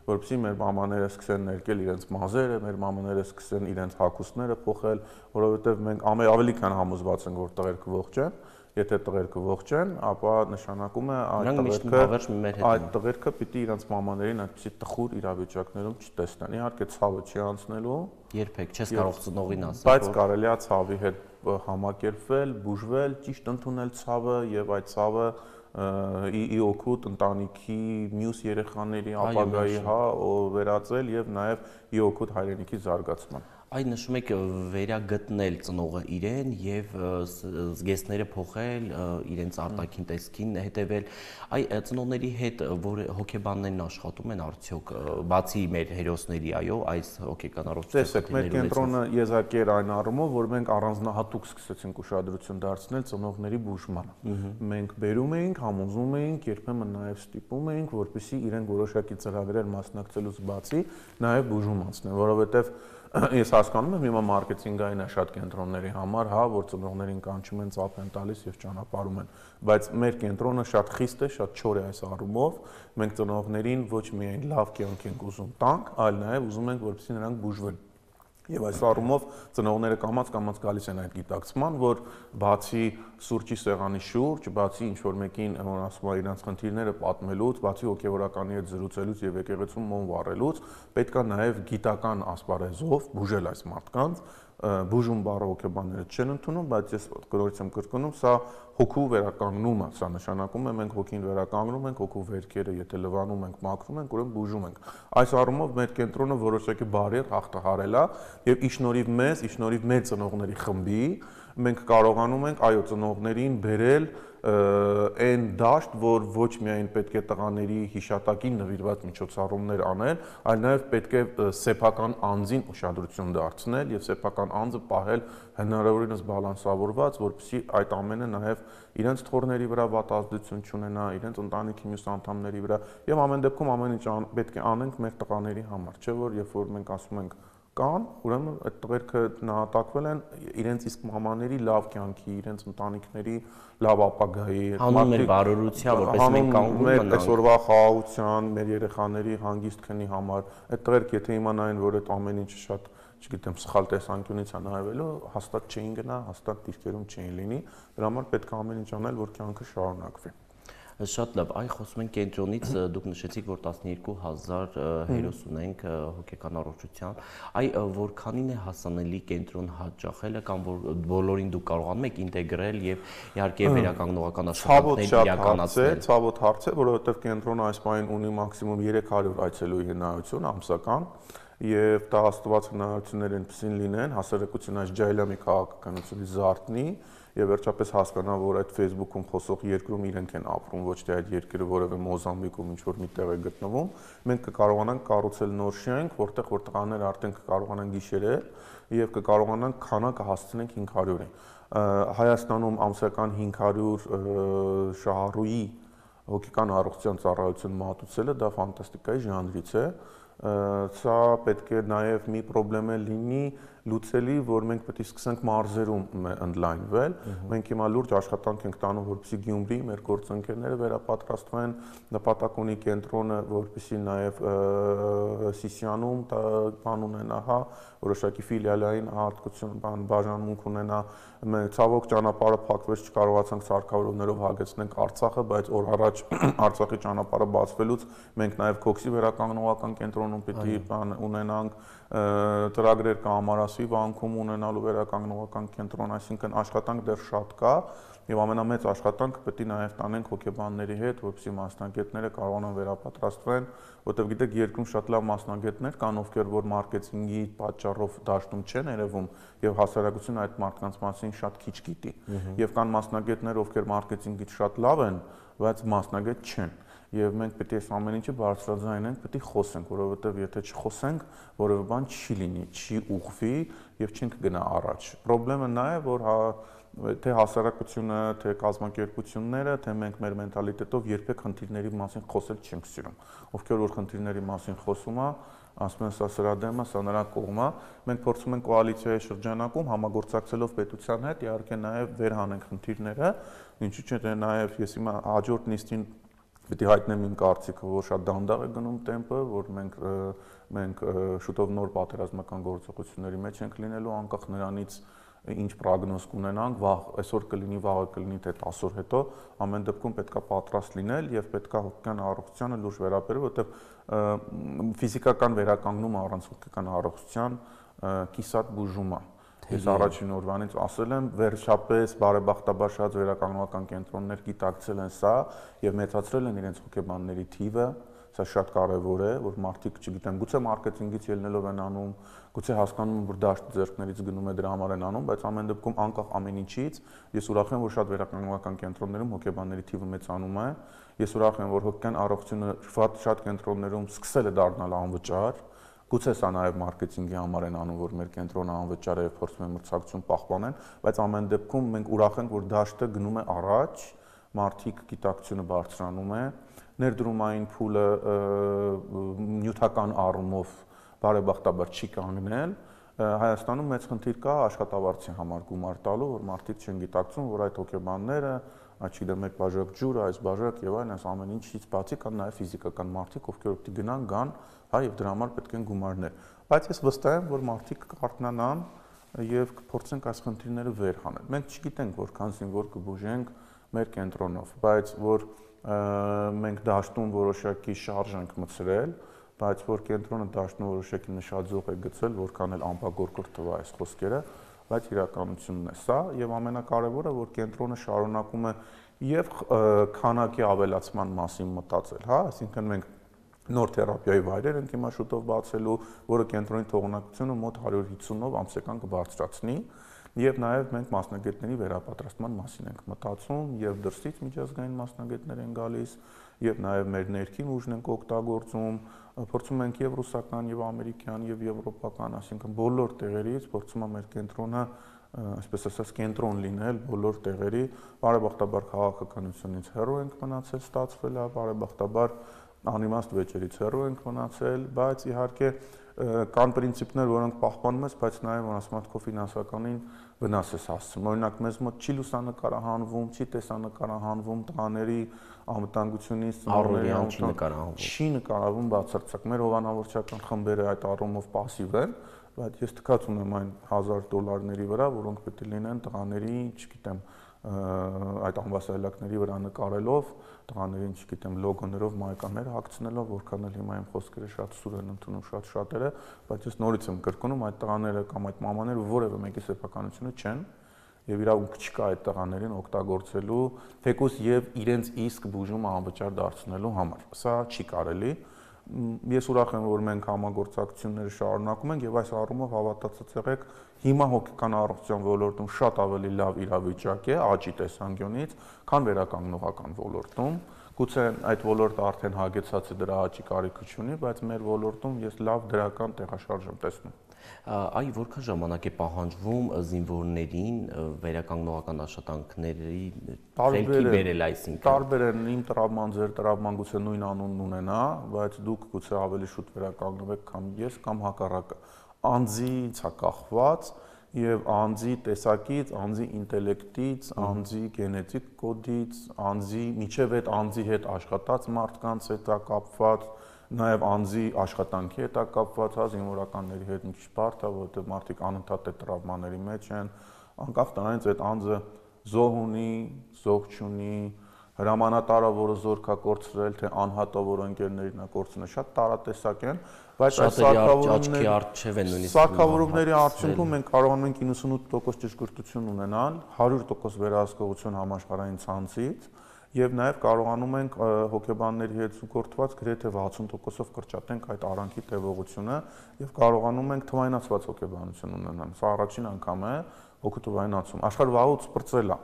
որպեսզի մեր մամաները սկսեն ներկել իրենց մազերը, մեր մամաները սկսեն իրենց հագուստները փոխել, որովհետև մենք ավելի քան համոզված ենք, որ տղերքը ողջ են, եթե տղերքը ողջ են, ապա նշանակում է այդ Նրանք միշտ տղերքը հավերժ մեր հետ այդ տղերքը պիտի իրենց մամաներին այդպիսի տխուր իրավիճակներում չտեսնեն։ Իհարկե ցավը չի անցնելու, երբեք չես կարող ծնողին ասել, բայց կարելի է ցավի հետ համակերպվել, բուժվել, ճիշտ ընդունել ցավը եւ այդ ցավը ի օգուտ ընտանիքի մյուս երեխաների ապագայի հա վերածել եւ նաեւ ի օգուտ հայրենիքի զարգացման։ Այ նշում եք վերագտնել ծնողը իրեն եւ զգեստները փոխել, իրենց արտաքին տեսքին հետեւել։ Այ ծնողների հետ որ հոգեբաններն աշխատում են արդյոք բացի մեր հերոսների, այո, այս հոգեկան առողջության տեսեք, մեր կենտրոնը եզակի էր այն առումով, որ մենք առանձնահատուկ սկսեցինք ուշադրություն դարձնել ծնողների բուժմանը։ Մենք բերում էինք, համոզում էինք, երբեմն նաեւ ստիպում էինք, որպեսզի իրենք որոշակի ծրագրեր մասնակցելուց բացի նաեւ բուժում անցնեն, որովհետեւ ես հասկանում եմ հիմա մարքեթինգային է շատ կենտրոնների համար, հա, որ ծնողներին կանչում են, ծափ են տալիս եւ ճանապարհում են, բայց մեր կենտրոնը շատ խիստ է, շատ չոր է այս առումով, մենք ծնողներին ոչ միայն լավ կյանք ենք ուզում տանք, այլ նաեւ ուզում ենք, որպեսզի նրանք բուժվեն։ Եվ այս առումով ծնողները կամաց-կամաց գալիս են այդ գիտակցման, որ բացի սուրճի սեղանի շուրջ, բացի ինչ-որ մեկին, որ ասում է իրենց խնդիրները պատմելուց, բացի հոգեվորականի հետ զրուցելուց եւ եկեղեցում մոմ վառելուց, պետք է նաեւ գիտական ասպարեզով բուժել այս մարդկանց, բուժում բառը հոգեբանները չեն ընդունում, բայց ես կրկնորդ եմ կրկնում, սա հոգու վերականգնումը, սա նշանակում է մենք հոգին վերականգնում ենք, հոգու վերքերը եթե լվանում ենք, մաքրում ենք, ուրեմն բուժում ենք։ Այս առումով մեր կենտրոնը որոշակի բարիեր հաղթահարել է եւ ի շնորհիվ մեզ, ի շնորհիվ մեր ծնողների խմբի մենք կարողանում ենք այո ծնողներին բերել այն դաշտ, որ ոչ միայն պետք է տղաների հիշատակին նվիրված միջոցառումներ անել, այլ նաև պետք է սեփական անձին ուշադրություն դարձնել եւ սեփական անձը պահել հնարավորինս բալանսավորված, որպեսզի այդ ամենը նաև իրենց թորների վրա վատ ազդեցություն չունենա, իրենց ընտանիքի մյուս անդամների վրա եւ ամեն դեպքում ամեն ինչ պետք է անենք մեր տղաների համար, չէ՞ որ երբ որ մենք ասում ենք կան, ուրեմն այդ տղերքը նահատակվել են իրենց իսկ մամաների լավ կյանքի, իրենց ընտանիքների լավ ապագայի, հանուն մեր բարօրության, որպես մենք կանգնում ենք մեր այսօրվա խաղաղության, մեր երեխաների հանգիստ քնի համար, այդ տղերք եթե իմանային, որ այդ ամեն ինչը շատ, չգիտեմ, սխալ տեսանկյունից է նայվելու, հաստատ չէին գնա, հաստատ դիրքերում չէին լինի, դրա համար պետք է ամեն ինչ անել, որ կյանքը շարունակվի։ Շատ լավ, այ խոսում ենք կենտրոնից, դուք նշեցիք, որ տասնյոթ հազար հերոս ունենք հոգեկան առողջության, այ որքանին է հասանելի կենտրոն հաճախելը կամ որ բոլորին դուք կարողանում եք ինտեգրել եւ իհարկե վերականգնողական աշխատանքներ իրականացնել։ Ցավոտ հարց է, որովհետեւ կենտրոնը այս պահին ունի մաքսիմում երեք հարյուր այցելուի հնարավորություն ամսական եւ դա աստված հնարավորություններ այնպեսին լինեն, հասարակության այս ջայլամի քաղաքականությունից զարթնի եւ վերջապես հասկանա, որ այդ Facebook-ում խոսող երկրում իրենք են ապրում, ոչ թե այդ երկրը որևէ Մոզամբիկում ինչ որ միտեղ է գտնվում, մենք կկարողանանք կառուցել նոր շենք, որտեղ որ տղաները արդեն կկարողանան գիշերել եւ կկարողանանք քանակը հասցնենք հինգ հարյուրի։ Հայաստանում ամսական հինգ հարյուր շահառուի հոգեկան առողջության ծառայություն մատուցելը դա ֆանտաստիկայի ժանրից է։ Սա պետք է նաև մի խնդրեմ լինի լուծելի, որ մենք պետք է սկսենք մարզերում ընդլայնվել։ Մենք հիմա լուրջ աշխատանք ենք տանում, որպեսզի Գյումրի մեր գործընկերները վերապատրաստվեն, նպատակ ունի կենտրոնը, որպեսզի նաև Սիսիանում բան ունենա, հա, որոշակի ֆիլիալային հատկություն, բան բաժանմունք ունենա։ Մենք ցավոք ճանապարհը փակվեց, չկարողացանք սարքավորումներով հագեցնենք Արցախը, բայց օր առաջ Արցախի ճանապարհը բացվելուց մենք նաև Քոքսի վերականգնողական կենտրոնում պիտի բան ունենանք, ծրագրեր կա Ամարասի վանքում ունենալու վերականգնողական կենտրոն, այսինքն աշխատանք դեռ շատ կա եւ ամենամեծ աշխատանքը պետք է նաեւ տանենք հոգեբանների հետ, որպեսզի մասնագետները կարողանան վերապատրաստվեն, որտեղ գիտեք երկրում շատ լավ մասնագետներ կան, ովքեր որ մարքեթինգի պատճառով դաշտում չեն երևում եւ հասարակությունը այդ մարդկանց մասին շատ քիչ գիտի։ Եվ կան մասնագետներ, ովքեր մարքեթինգից շատ լավ են, բայց մասնագետ չեն։ Եվ մենք պետք է այս ամեն ինչը բարձրաձայնենք, պետք է խոսենք, որովհետև եթե չխոսենք, որևէ բան չի լինի, չի ուղղվի եւ չենք գնա առաջ։ Պրոբլեմը նա է, որ հա թե հասարակությունը, թե կազմակերպությունները, թե մենք մեր մենտալիտետով երբեք խնդիրների մասին խոսել չենք սիրում։ Ովքեր որ խնդիրների մասին խոսում է, ասում են սա սրա դեմ է, սա նրա կողմ է։ Մենք փորձում ենք կոալիցիայի շրջանակում համագործակցելով պետության հետ, իհարկե նաև վեր հանենք խնդիրները, ինչու՞ չէ, թե նաև ես հիմա հաջորդ նիստին Պետք է հայտնեմ իմ կարծիքը, որ շատ դանդաղ է գնում տեմպը, որ մենք մենք շուտով նոր պատերազմական գործողությունների մեջ ենք լինելու, անկախ նրանից ինչ պրոգնոզ կունենանք, վաղ այսօր կլինի, վաղը կլինի, թե տասը օր հետո, ամեն դեպքում պետքա պատրաստ լինել եւ պետքա հոգեկան առողջությանը լուրջ վերաբերել, որովհետեւ ֆիզիկական վերականգնումը առանց հոգեկան առողջության կիսատ բուժում է։ Ես առաջին օրվանից ասել եմ, վերջապես բարեբախտաբար շատ վերականգնողական կենտրոններ գիտակցել են սա եւ մեծացրել են իրենց հոգեբանների թիվը, սա շատ կարեւոր է, որ մարդիկ, չգիտեմ, գուցե մարքեթինգից ելնելով են անում, գուցե հասկանում են, որ դաշտը ձեռքներից գնում է, դրա համար են անում, բայց ամեն դեպքում անկախ ամեն ինչից, ես ուրախ եմ, որ շատ վերականգնողական կենտրոններում հոգեբանների թիվը մեծանում է, ես ուրախ եմ, որ հոգեկան առողջությունը շատ կենտրոններում սկսել է դառնալ անվճար։ Գուցե սա նաև մարքեթինգի համար են անում, որ մեր կենտրոնը անվճար է եւ փորձում են մրցակցություն պահպանեն, բայց ամեն դեպքում մենք ուրախ ենք, որ դաշտը գնում է առաջ, մարդիկ գիտակցությունը բարձրանում է, ներդրումային փուլը նյութական առումով բարեբախտաբար չի կանգնել, Հայաստանում մեծ խնդիր կա աշխատավարձի համար գումար տալու, որ մարդիկ չեն գիտակցում, որ այդ հոգեբանները, չգիտեմ, մեկ բաժակ ջուր, այս բաժակ եւ այլն, այս ամեն ինչից բացի կան նաեւ ֆիզիկական մարդիկ, ովքեր պետք է գնան, գան, հա, եւ դրա համար պետք են գումարներ։ Բայց ես վստահ եմ, որ մարդիկ կարտնանան եւ կփորձենք այս խնդիրները վեր հանել։ Մենք չգիտենք որքանցին որ կբուժենք մեր կենտրոնով, բայց որ մենք դաշտում որոշակի շարժ ենք մցրել, բայց որ կենտրոնը դաշտում որոշակի նշաձող է գցել, որքան էլ ամպագորգոր թվա այս խոսքերը, բայց իրականությունն է սա եւ ամենակարևորը, որ կենտրոնը շարունակում է եւ քանակի ավելացման մասին մտածել, հա, այսինքն մենք նոր թերապիայի վայրեր ենք հիմա շուտով բացելու, որը կենտրոնի թողունակությունը մոտ հարյուր հիսունով ամսական կբարձրացնի եւ նաեւ մենք մասնագետների վերապատրաստման մասին ենք մտածում եւ դրսից միջազգային մասնագետներ են գալիս եւ նաեւ մեր ներքին ուժն ենք օգտագործում, փորձում ենք եւ ռուսական եւ ամերիկյան եւ եվրոպական, այսինքն բոլոր տեղերից փորձում ենք մեր կենտրոնը, այսպես ասած, կենտրոն լինել բոլոր տեղերի, բարեբախտաբար քաղաքականությունից հեռու ենք մնացել, ստացվել է, բարեբախտաբար անիմաստ վեճերից հեռու ենք մնացել, բայց իհարկե կան պրինցիպներ, որոնք պահպանում ես, բայց նաև որ ասում եմ քո ֆինանսականին վնաս ես հասցնում։ Օրինակ մեզ մոտ չի լուսանկարահանվում, չի տեսանկարահանվում տղաների անվտանգությունից, ծնողների անվտանգությունից, չի նկարահանվում բացարձակ։ Մեր հովանավորչական խմբերը այդ առումով пассив են, բայց ես թքած ունեմ այն հազար դոլարների վրա, որոնք պետք է լինեն տղաների, չգիտեմ, այդ ամբասայլակների վրա նկարելով, տղաներին, չգիտեմ, լոգոներով, մայկաններ հագցնելով, որքան էլ հիմա իմ խոսքերը շատ սուր են ընդունում շատ շատերը, բայց ես նորից եմ կրկնում, այդ տղաները կամ այդ մամաները որևէ մեկի սեփականությունը չեն եւ իրավունք չկա այդ տղաներին օգտագործելու, թեկուզ եւ իրենց իսկ բուժումը անվճար դարձնելու համար։ Սա չի կարելի։ Ես ուրախ եմ, որ մենք համագործակցությունները շարունակում ենք եւ այս առումով հավատացած եղեք, հիմա հոգեկան առողջության ոլորտում շատ ավելի լավ իրավիճակ է աճի տեսանկյունից, քան վերականգնողական ոլորտում։ Գուցե այդ ոլորտը արդեն հագեցած է, դրա աճի կարիքը չունի, բայց մեր ոլորտում ես լավ դրական տեղաշարժ եմ տեսնում։ Այ որքան ժամանակ է պահանջվում զինվորներին վերականգնողական աշխատանքների ֆելքի բերել, այսինքն տարբեր են, իմ տրավման, ձեր տրավման գուցե նույն անունն ունենա, բայց դուք գուցե ավելի շուտ վերականգնվեք, քան ես, կամ հակառակը։ Անձից է կախված եւ անձի տեսակից, անձի ինտելեկտից, անձի գենետիկ կոդից, անձի միջև այդ անձի հետ աշխատած մարդկանց հետ է կապված, նաեւ անձի աշխատանքի հետ է կապված, հա, զինվորականների հետ մի քիչ բարդ է, որովհետեւ մարդիկ անընդհատ այդ տրավմաների մեջ են, անկախ դրանից այդ անձը զոհ ունի, զոհ չունի, հրամանատարը, որը զորք է կորցրել, թե անհատը, որ ընկերներին է կորցրել, շատ տարատեսակ են, բայց այս սարքավորումների արդյունքում մենք կարողանում ենք իննսունութ տոկոս ճշգրտություն ունենալ, հարյուր տոկոս վերահսկողություն համաշխարհային ցանցից եւ նաեւ կարողանում ենք հոգեբանների հետ զուգորդված գրեթե վաթսուն տոկոսով կրճատենք այդ արանքի տևողությունը եւ կարողանում ենք թվայնացված հոգեբանություն ունենալ։ Սա առաջին անգամ է հոգու թվայնացում։ Աշխարհ վաղուց սպրծել է։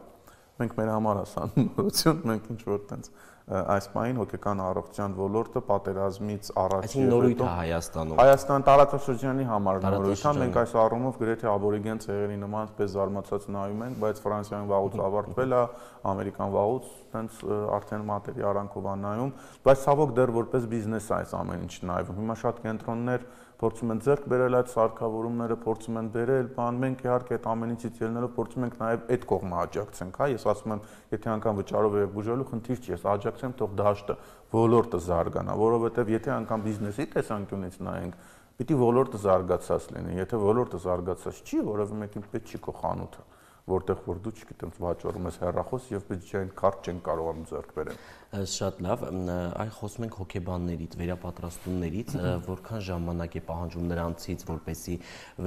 Մենք մեր համար ասան նորություն, մենք ինչ որ տենց այս պահին հոգեկան առողջության ոլորտը պատերազմից առաջ Այսինքն նորույթ է Հայաստանում։ Հայաստան տարածաշրջանի համար նորույթ է, մենք այս առումով գրեթե աբորիգեն ցեղերի նման պես զարմացած նայում ենք, բայց Ֆրանսիան վաղուց ավարտվել է, Ամերիկան վաղուց տենց արդեն մատերի արանքով է նայում, բայց ցավոք դեռ որպես բիզնես է այս ամեն ինչ նայվում։ Հիմա շատ կենտրոններ փորձում են ձեռք բերել այդ սարքավորումները, փորձում են բերել, բան մենք իհարկե այդ ամեն ինչից ելնելով փորձում ենք նաև այդ կողմը աջակցենք, հա, ես ասում եմ, եթե անգամ վճարով եք բուժելու, խնդիր չի, ես աջակցեմ, թող դաշտը, ոլորտը զարգանա, որովհետև եթե անգամ բիզնեսի տեսանկյունից նայենք, Պիտի ոլորտը զարգացած լինի, եթե ոլորտը զարգացած չի, որովհետեւ մեկին պետք չի քո խանութը, որտեղ որ դու չգիտեմ վաճառում ես հեռախոս եւ բյուջեային քարտ չեն կարողանում ձեռք բերել։ Շատ լավ, այ խոսում ենք հոգեբաններից, վերապատրաստումներից, որքան ժամանակ է պահանջում նրանցից, որպեսզի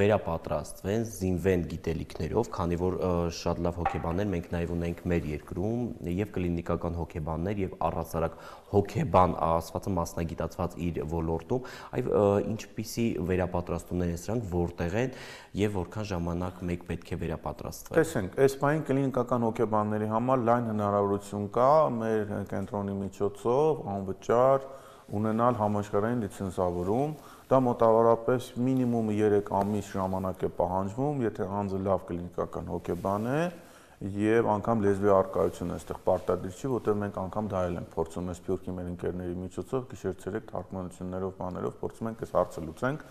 վերապատրաստվեն, զինվեն գիտելիքներով, քանի որ շատ լավ հոգեբաններ մենք նաև ունենք մեր երկրում, եւ կլինիկական հոգեբաններ, եւ առհասարակ հոգեբան ասվածը մասնագիտացված իր ոլորտում, այ ինչպիսի վերապատրաստումներ են սրանք, որտեղ են եւ որքան ժամանակ մեկ պետք է վերապատրաստվի։ Տեսենք, այս բանի կլինիկական հոգեբանների համար լայն հնարավորություն կա մեր կենտրոնի միջոցով անվճար ունենալ համաշխարհային լիցենզավորում, դա մոտավորապես մինիմում երեք ամիս ժամանակ է պահանջվում, եթե անձը լավ կլինիկական հոգեբան է եւ անգամ լեզվի առկայություն է այստեղ պարտադիր չի, որտեղ մենք անգամ դա էլ ենք փորձում այս Սփյուռքի մեր ընկերների միջոցով գիշեր-ցերեկ թարգմանություններով բաներով փորձում ենք այս հարցը լուծենք։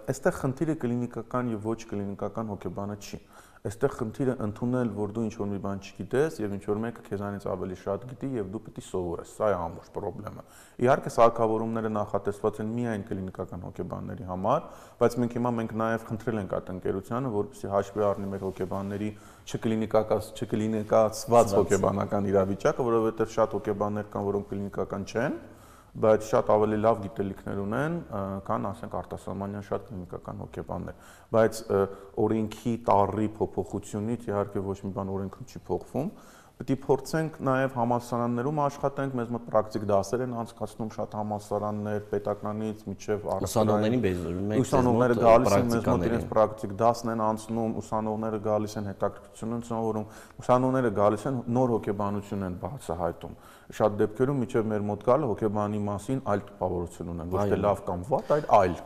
Այստեղ խնդիրը կլինիկական եւ ոչ կլինիկական հոգեբանը չի։ Այստեղ խնդիրը ընդունել, որ դու ինչ-որ մի բան չգիտես եւ ինչ-որ մեկը քեզանից ավելի շատ գիտի եւ դու պիտի սովորես։ Սա է ամբողջ խնդրեմը։ Իհարկե սարքավորումները նախատեսված են միայն կլինիկական հոգեբանների համար, բայց մենք հիմա մենք նաեւ խնդրել ենք այդ ընկերությանը, որպեսզի հաշվի առնի մեր հոգեբանների չկլինիկական չկլինիկացված հոգեբանական իրավիճակը, որովհետեւ շատ հոգեբաններ կան, որոնք կլինիկական չեն, բայց շատ ավելի լավ գիտելիքներ ունեն, քան ասենք արտասահմանյան շատ կլինիկական հոգեբաններ, բայց օրենքի տառի փոփոխությունից իհարկե ոչ մի բան օրենքում չի փոխվում, պետք է փորձենք նաև համալսարաններում աշխատենք, մեզ մոտ պրակտիկ դասեր են անցկացնում շատ համալսարաններ, պետականից մինչև ուսանողներին ուսանողները գալիս են մեզ մոտ իրենց պրակտիկ դասն են անցնում, ուսանողները գալիս են հետաքրքրություն են սովորում, ուսանողները գալիս են նոր հոգեբանություն են բացահայտում։ Շատ դեպքերում մինչև մեր մոտ գալը հոգեբանի մասին այլ տպավորություն ունեն, ոչ թե լավ կամ վատ, այլ այլ։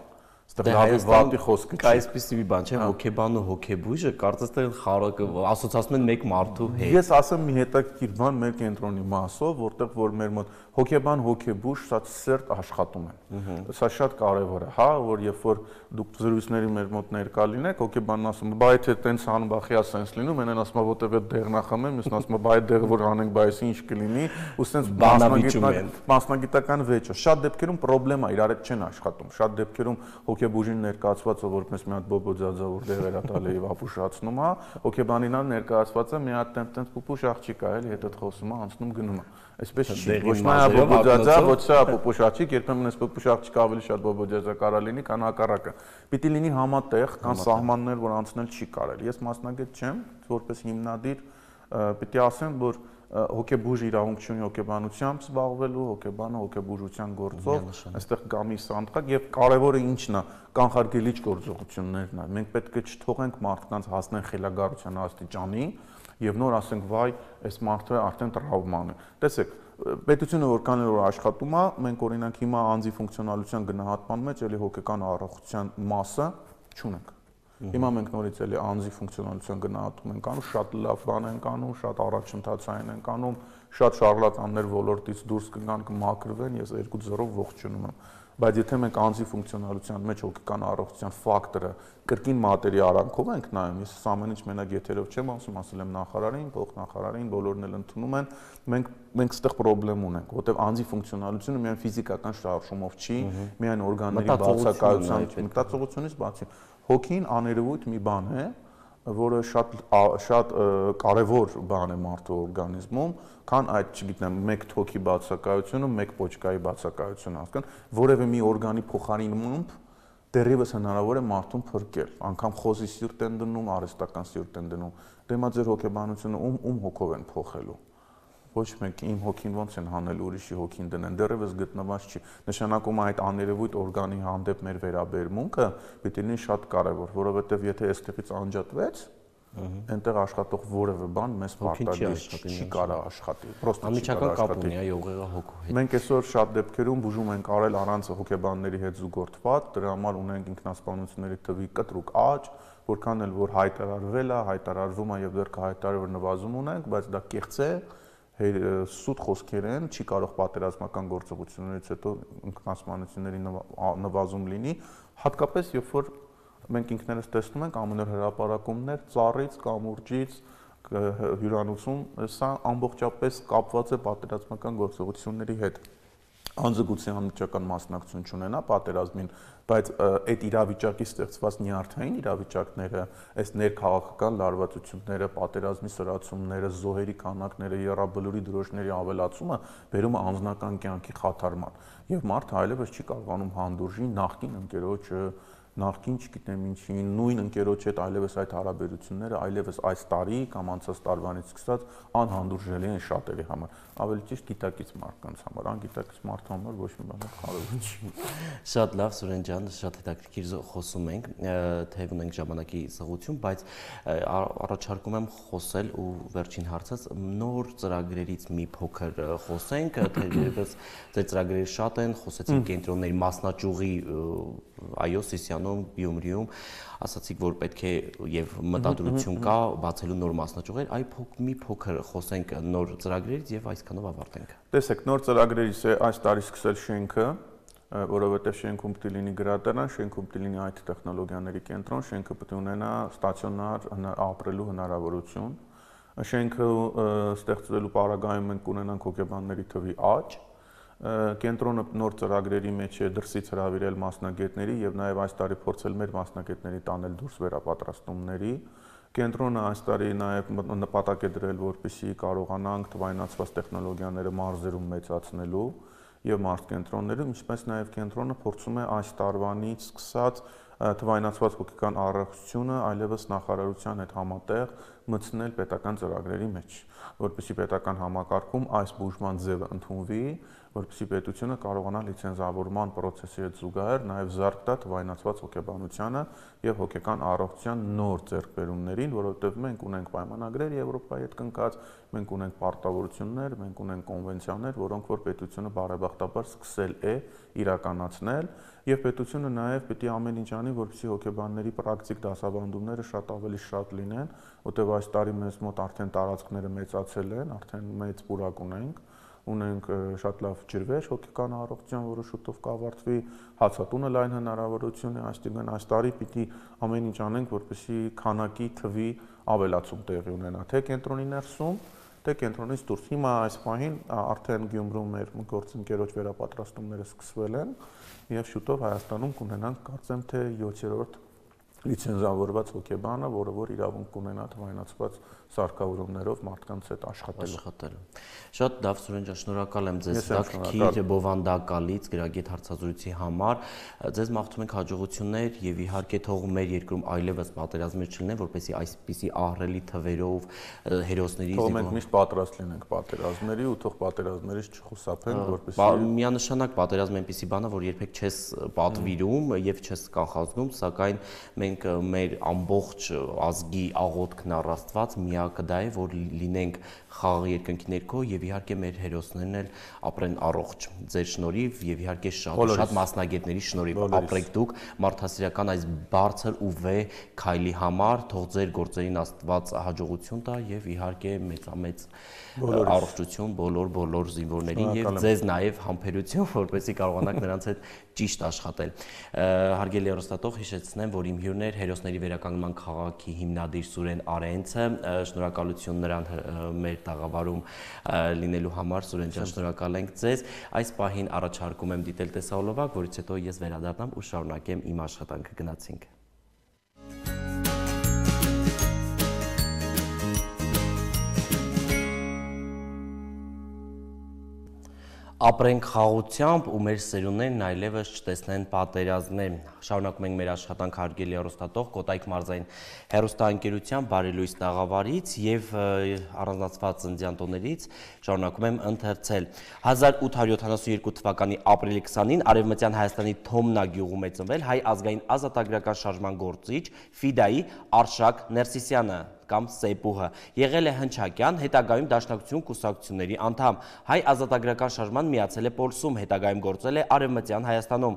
Դե Հայաստանի խոսքը չի։ Այսպեսի մի բան չէ, հոգեբանը ու հոգեբույժը կարծես թե խարակը ասոցացնում են մեկ մարդու հետ։ Ես ասեմ մի հետաքրքիր բան մեր կենտրոնի մասով, որտեղ որ մեր մոտ հոգեբան, հոգեբույժ շատ սերտ աշխատում են։ Սա շատ կարևոր է, հա, որ երբ որ դուք զրույցների մեր մոտ ներկա լինեք, հոգեբանն ասում է, բա եթե տենց անում, բա խիա սենս լինում, մենեն ասում է, որտեղ այդ դեղն ախմեմ, մյուսն ասում է, բա այդ դեղը որ անենք, բա այս ինչ կլինի, ու սենց մասնագիտական վեճը։ Շատ դեպքերում պրոբլեմա իրար հետ չեն աշխատում։ Շատ դեպքերում հոգեբույժին ներկայացված է որպես մի հատ բոբոձաձավոր դեղեր ա տալի եւ ապուշացնում է, հոգեբանին ալ ներկայացված է մի հատ տենց պուպուշ աղջիկ է, էլի հետդ խոսում է, անցնում գնում է։ Այսպես չի, ոչ նա բոբոձաձա, ոչ սա պուպուշ աղջիկ, երբեմն այս պուպուշ աղջիկը ավելի շատ բոբոձաձա կարա լինի, քան հակառակը։ Պիտի լինի համատեղ, կան սահմաններ, որ անցնել չի կարելի։ Ես մասնագետ չեմ, որպես հիմնադիր պիտի ասեմ, որ հոգեբույժ իրավունք չունի հոգեբանությամբ զբաղվելու, հոգեբանը հոգեբուժության գործով, այստեղ գամի սանդղակ եւ կարեւորը ինչն է, կանխարգելիչ գործողություններն են։ Մենք պետք է չթողենք մարդկանց հասնեն խելագարության աստիճանի եւ նոր ասենք վայ, այս մարդը արդեն տրավման է։ Տեսեք, պետությունը որքան էլ որ աշխատում է, մենք օրինակ հիմա անձի ֆունկցիոնալության գնահատման մեջ էլի հոգեկան առողջության մասը չունենք։ Հիմա մենք նորից էլի անձի ֆունկցիոնալության գնահատում ենք անում, շատ լավ բան ենք անում, շատ առաջընթացային ենք անում, շատ շարլատաններ ոլորտից դուրս կգան, կմաքրվեն, ես երկու ձեռով ողջունում եմ։ Բայց եթե մենք անձի ֆունկցիոնալության մեջ հոգեկան առողջության ֆակտորը կրկին մատերի արանքով ենք նայում, ես ամեն ինչ մենակ եթերով չեմ ասում, ասել եմ նախարարին, փոխնախարարին, բոլորն էլ ընդունում են, մենք մենք այստեղ խնդրեմ ունենք, որտեղ անձի ֆունկցիոնալությունը միայն ֆիզիկական շարժումով չի, միայն օրգանների բացակայությամբ, մտածողությունից բացի հոգին աներևույթ մի բան է, որը շատ շատ կարևոր բան է մարդու օրգանիզմում, քան այդ, չգիտեմ, մեկ թոքի բացակայությունը, մեկ պոչկայի բացակայությունը, հասկան, որևէ մի օրգանի փոխարինմամբ դեռևս հնարավոր է մարդուն փրկել, անգամ խոզի սիրտ են դնում, արհեստական սիրտ են դնում, դեմա ձեր հոգեբանությունը ում ում հոգով են փոխելու։ Ոչ մեկ իմ հոգին ոնց են հանել ուրիշի հոգին դնեն, դեռևս գտնված չի։ Նշանակում է այդ աներևույթ օրգանի հանդեպ մեր վերաբերմունքը պիտի լինի շատ կարևոր, որովհետև եթե այստեղից անջատվեց, այնտեղ աշխատող որևէ բան մեզ պարտադիր չի կարա աշխատի, պրոստը չի կարա աշխատի։ Մենք այսօր շատ դեպքերում բուժում ենք արել առանց հոգեբանների հետ զուգորդված, դրա համար ունենք ինքնասպանությունների թվի կտրուկ աճ, որքան էլ որ հայտարարվել է, հայտարարվում է եւ դեռ կհայտարարվի նվազում ունենք, բայց դա կեղծ է, սուտ խոսքեր են, չի կարող պատերազմական գործողություններից հետո ինքնասպանությունների նվազում լինի, հատկապես երբ որ մենք ինքներս տեսնում ենք ամենօր հրապարակումներ ծառից, կամուրջից, հյուրանոցում, սա ամբողջապես կապված է պատերազմական գործողությունների հետ։ անձգուցի անմիջական մասնակցություն չունենա պատերազմին, բայց այդ իրավիճակի ստեղծված նյարդային իրավիճակները, այս ներքաղաքական լարվածությունները, պատերազմի սրացումները, զոհերի քանակները, եռաբլուրի դրոշների ավելացումը բերում է անձնական կյանքի խաթարման, եւ մարդը այլևս չի կարողանում հանդուրժի նախկին ընկերոջը, նախկին չգիտեմ ինչի, նույն ընկերոջ հետ այլևս այդ հարաբերությունները այլևս այս տարի կամ անցած տարվանից սկսած անհանդուրժելի են շատերի համար, ավելի ճիշտ գիտակից մարդկանց համար, անգիտակից մարդու համար ոչ մի բան կարևոր չի։ Շատ լավ, Սուրեն ջան, շատ հետաքրքիր խոսում ենք, թեև ունենք ժամանակի սղություն, բայց առաջարկում եմ խոսել ու վերջին հարցած նոր ծրագրերից մի փոքր խոսենք, թերևս ձեր ծրագրերը շատ են, խոսեցինք կենտրոնների մասնաճյուղի այո Սիսիանում, Գյումրիում, ասացիք, որ պետք է եւ մտադրություն կա բացելու նոր մասնաճյուղեր, այ մի փոքր խոսենք նոր ծրագրերից եւ այսքանով ավարտենք։ Տեսեք, նոր ծրագրերից է այս տարի սկսել շենքը, որովհետեւ շենքում պետք է լինի գրադարան, շենքում պետք է լինի այ թի տեխնոլոգիաների կենտրոն, շենքը պետք է ունենա ստացիոնար ապրելու հնարավորություն։ Շենքը ստեղծվելու պարագայում մենք կունենանք հոգեբանների թվի աճ։ Կենտրոնը նոր ծրագրերի մեջ է դրսից հրավիրել մասնագետների եւ նաեւ այս տարի փորձել մեր մասնագետների տանել դուրս վերապատրաստումների։ Կենտրոնը այս տարի նաեւ նպատակ է դրել, որպեսզի կարողանանք թվայնացված տեխնոլոգիաները մարզերում մեծացնելու եւ մարզկենտրոններում, ինչպես նաեւ կենտրոնը փորձում է այս տարվանից սկսած թվայնացված հոգեկան առողջությունը այլևս նախարարության հետ համատեղ մտցնել պետական ծրագրերի մեջ, որպեսզի պետական համակարգում այս բուժման ձևը ընդունվի, որպեսզի պետությունը կարողանա լիցենզավորման process-ի հետ զուգահեռ նաև զարկ տա թվայնացված հոգեբանությանը եւ հոգեկան առողջության նոր ձեռքբերումներին, որովհետեւ մենք ունենք պայմանագրեր Եվրոպայի հետ կնքած, մենք ունենք պարտավորություններ, մենք ունենք կոնվենցիաներ, որոնք որ պետությունը բարեբախտաբար սկսել է իրականացնել եւ պետությունը նաեւ պետք է ամեն ինչ անի, որպեսզի հոգեբանների պրակտիկ դասավանդումները շատ ավելի շատ լինեն, որտեղ այս տարի մեզ մոտ արդեն տարածքները մեծացել են, արդեն մեծ պուրակ ունենք, ունենք շատ լավ ջրվեժ հոգեկան առողջության, որը շուտով կավարտվի, հացատունը լայն հնարավորություն է, այսինքն այս տարի պիտի ամեն ինչ անենք, որպեսզի քանակի թվի ավելացում տեղի ունենա, թե կենտրոնի ներսում, թե կենտրոնից դուրս։ Հիմա այս պահին արդեն Գյումրում մեր գործընկերոջ վերապատրաստումները սկսվել են եւ շուտով Հայաստանում կունենանք կարծեմ թե յոթերորդ լիցենզավորված հոգեբանը, որը որ իրավունք կունենա թվայնացված սարքավորումներով մարդկանց հետ աշխատելու։ Շատ լավ, Սուրեն ջան, շնորհակալ եմ ձեզ հետաքրքիր բովանդակալից գրագետ հարցազրույցի համար։ Ձեզ մաղթում ենք հաջողություններ եւ իհարկե թող մեր երկրում այլևս պատերազմներ չլինեն, որպեսզի այսպիսի ահռելի թվերով հերոսների թող մենք միշտ պատրաստ լինենք պատերազմների ու թող պատերազմներից չխուսափենք, որպեսզի միանշանակ պատերազմը այնպիսի բան է, որ երբեք չես պատվիրում եւ չես կանխազգում, սակայն մենք մեր ամբողջ ազգի աղոթքն առ Աստված միակը դա է, որ լինենք խաղաղ երկնքի ներքո եւ իհարկե մեր հերոսներն էլ ապրեն առողջ։ Ձեր շնորհիվ եւ իհարկե շատ շատ մասնագետների շնորհիվ ապրեք դուք մարդասիրական այս բարձր ու վեհ քայլի համար, թող ձեր գործերին Աստված հաջողություն տա եւ իհարկե մեծամեծ առողջություն բոլոր բոլոր զինվորներին եւ ձեզ նաեւ համբերություն, որպեսզի կարողանաք նրանց հետ ճիշտ աշխատել։ Հարգելի հեռուստատող, հիշեցնեմ, որ իմ հյուրն էր հերոսների վերականգնման քաղաքի հիմնադիր Սուրեն Արենցը, շնորհակալություն նրան մեր տաղավարում լինելու համար, Սուրեն ջան, շնորհակալ ենք ձեզ։ Այս պահին առաջարկում եմ դիտել տեսահոլովակ, որից հետո ես վերադառնամ ու շարունակեմ իմ աշխատանքը։ Գնացինք։ Ապրենք խաղությամբ ու մեր սերունդներն այլևս չտեսնեն պատերազմներ։ Շարունակում ենք մեր աշխատանք հարգելի հեռուստատող Կոտայք մարզային հեռուստաընկերության բարելույս տաղավարից եւ առանձնացված ծննդյան տոներից շարունակում եմ ընթերցել։ հազար ութ հարյուր յոթանասունյոթ թվականի ապրիլի քսանին Արևմտյան Հայաստանի Թոմնա գյուղում է ծնվել հայ ազգային ազատագրական շարժման գործիչ Ֆիդայի Արշակ Ներսիսյանը կամ Սեյպուհը, եղել է հնչակյան, հետագայում Դաշնակցություն կուսակցությունների անդամ, հայ ազատագրական շարժման միացել է Պոլսում, հետագայում գործել է Արևմտյան Հայաստանում,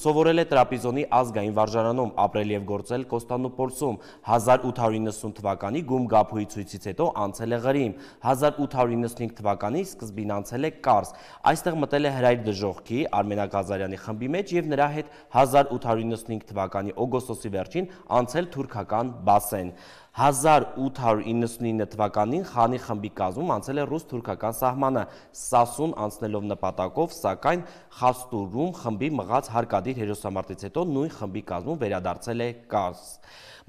սովորել է Տրապիզոնի ազգային վարժարանում, ապրել եւ գործել Կոստանդնուպոլսում, հազար ութ հարյուր իննսուն թվականի Գում Գաբուի ցույցից հետո անցել է Ղրիմ, հազար ութ հարյուր իննսունհինգ թվականի սկզբին անցել է Կարս, այստեղ մտել է Հրայր Դժոխքի, Արմենակ Ղազարյանի խմբի մեջ եւ նրա հետ հազար ութ հարյուր իննսունհինգ թվականի օգոստոսի վերջին անցել թուրքական Բասեն։ հազար ութ հարյուր իննսունինը թվականին Խանի խմբի կազմում անցել է ռուս-թուրքական սահմանը, Սասուն անցնելով նպատակով, սակայն Խաստուրում խմբի մղած հարկադիր հերոսամարտից հետո նույն խմբի կազմում վերադարձել է Կարս։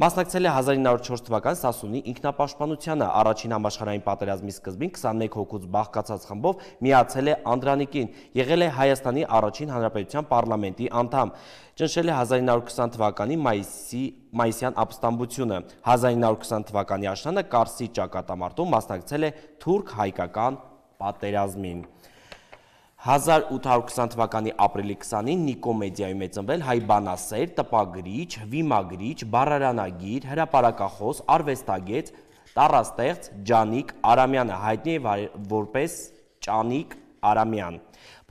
Մասնակցել է հազար ինը հարյուր չորս թվականի Սասունի ինքնապաշտպանությանը, առաջին համաշխարհային պատերազմի սկզբին քսանմեկ հոգուց բաղկացած խմբով միացել է Անդրանիկին, եղել է Հայաստանի առաջին հանրապետության պարլամենտի անդամ, ճնշել է հազար ինը հարյուր քսան թվականի մայիսի մայիսյան ապստամբությունը, հազար ինը հարյուր քսան թվականի աշնանը Կարսի ճակատամարտում մասնակցել է թուրք-հայկական պատերազմին։ հազար ութ հարյուր քսան թվականի ապրիլի քսանին Նիկոմեդիայում է ծնվել հայ բանասեր, տպագրիչ, վիմագրիչ, բառարանագիր, հրապարակախոս, արվեստագետ, տառաստեղծ Ջանիկ Արամյանը, հայտնի է որպես Ճանիկ Արամյան։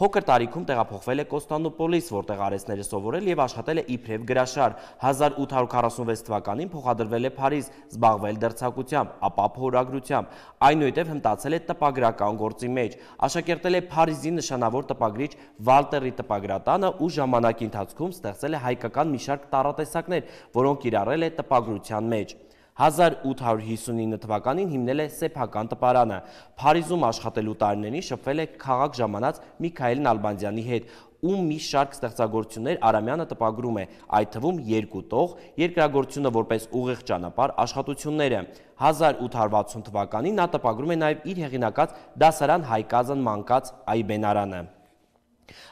Փոքր տարիքում տեղափոխվել է Կոստանդնուպոլիս, որտեղ արհեստները սովորել եւ աշխատել է իբրև գրաշար։ հազար ութ հարյուր քառասունվեց թվականին փոխադրվել է Փարիզ, զբաղվել դերձակությամբ, ապա փորագրությամբ, այնուհետև հմտացել է տպագրական գործի մեջ։ Աշակերտել է Փարիզի նշանավոր տպագրիչ Վալտերի տպագրատանը ու ժամանակի ընթացքում ստեղծել է հայկական մի շարք տառատեսակներ, որոնք կիրառել է տպագրության մեջ։ հազար ութ հարյուր հիսունինը թվականին հիմնել է սեփական տպարանը։ Փարիզում աշխատելու տարիներին շփվել է քաղաք ժամանած Միքայել Նալբանդյանի հետ, ում մի շարք ստեղծագործություններ Արամյանը տպագրում է, այդ թվում երկու տող, երկրագործությունը որպես ուղիղ ճանապարհ աշխատությունները։ հազար ութ հարյուր վաթսուն թվականին նա տպագրում է նաև իր հեղինակած դասարան Հայկազն մանկաց այբենարանը։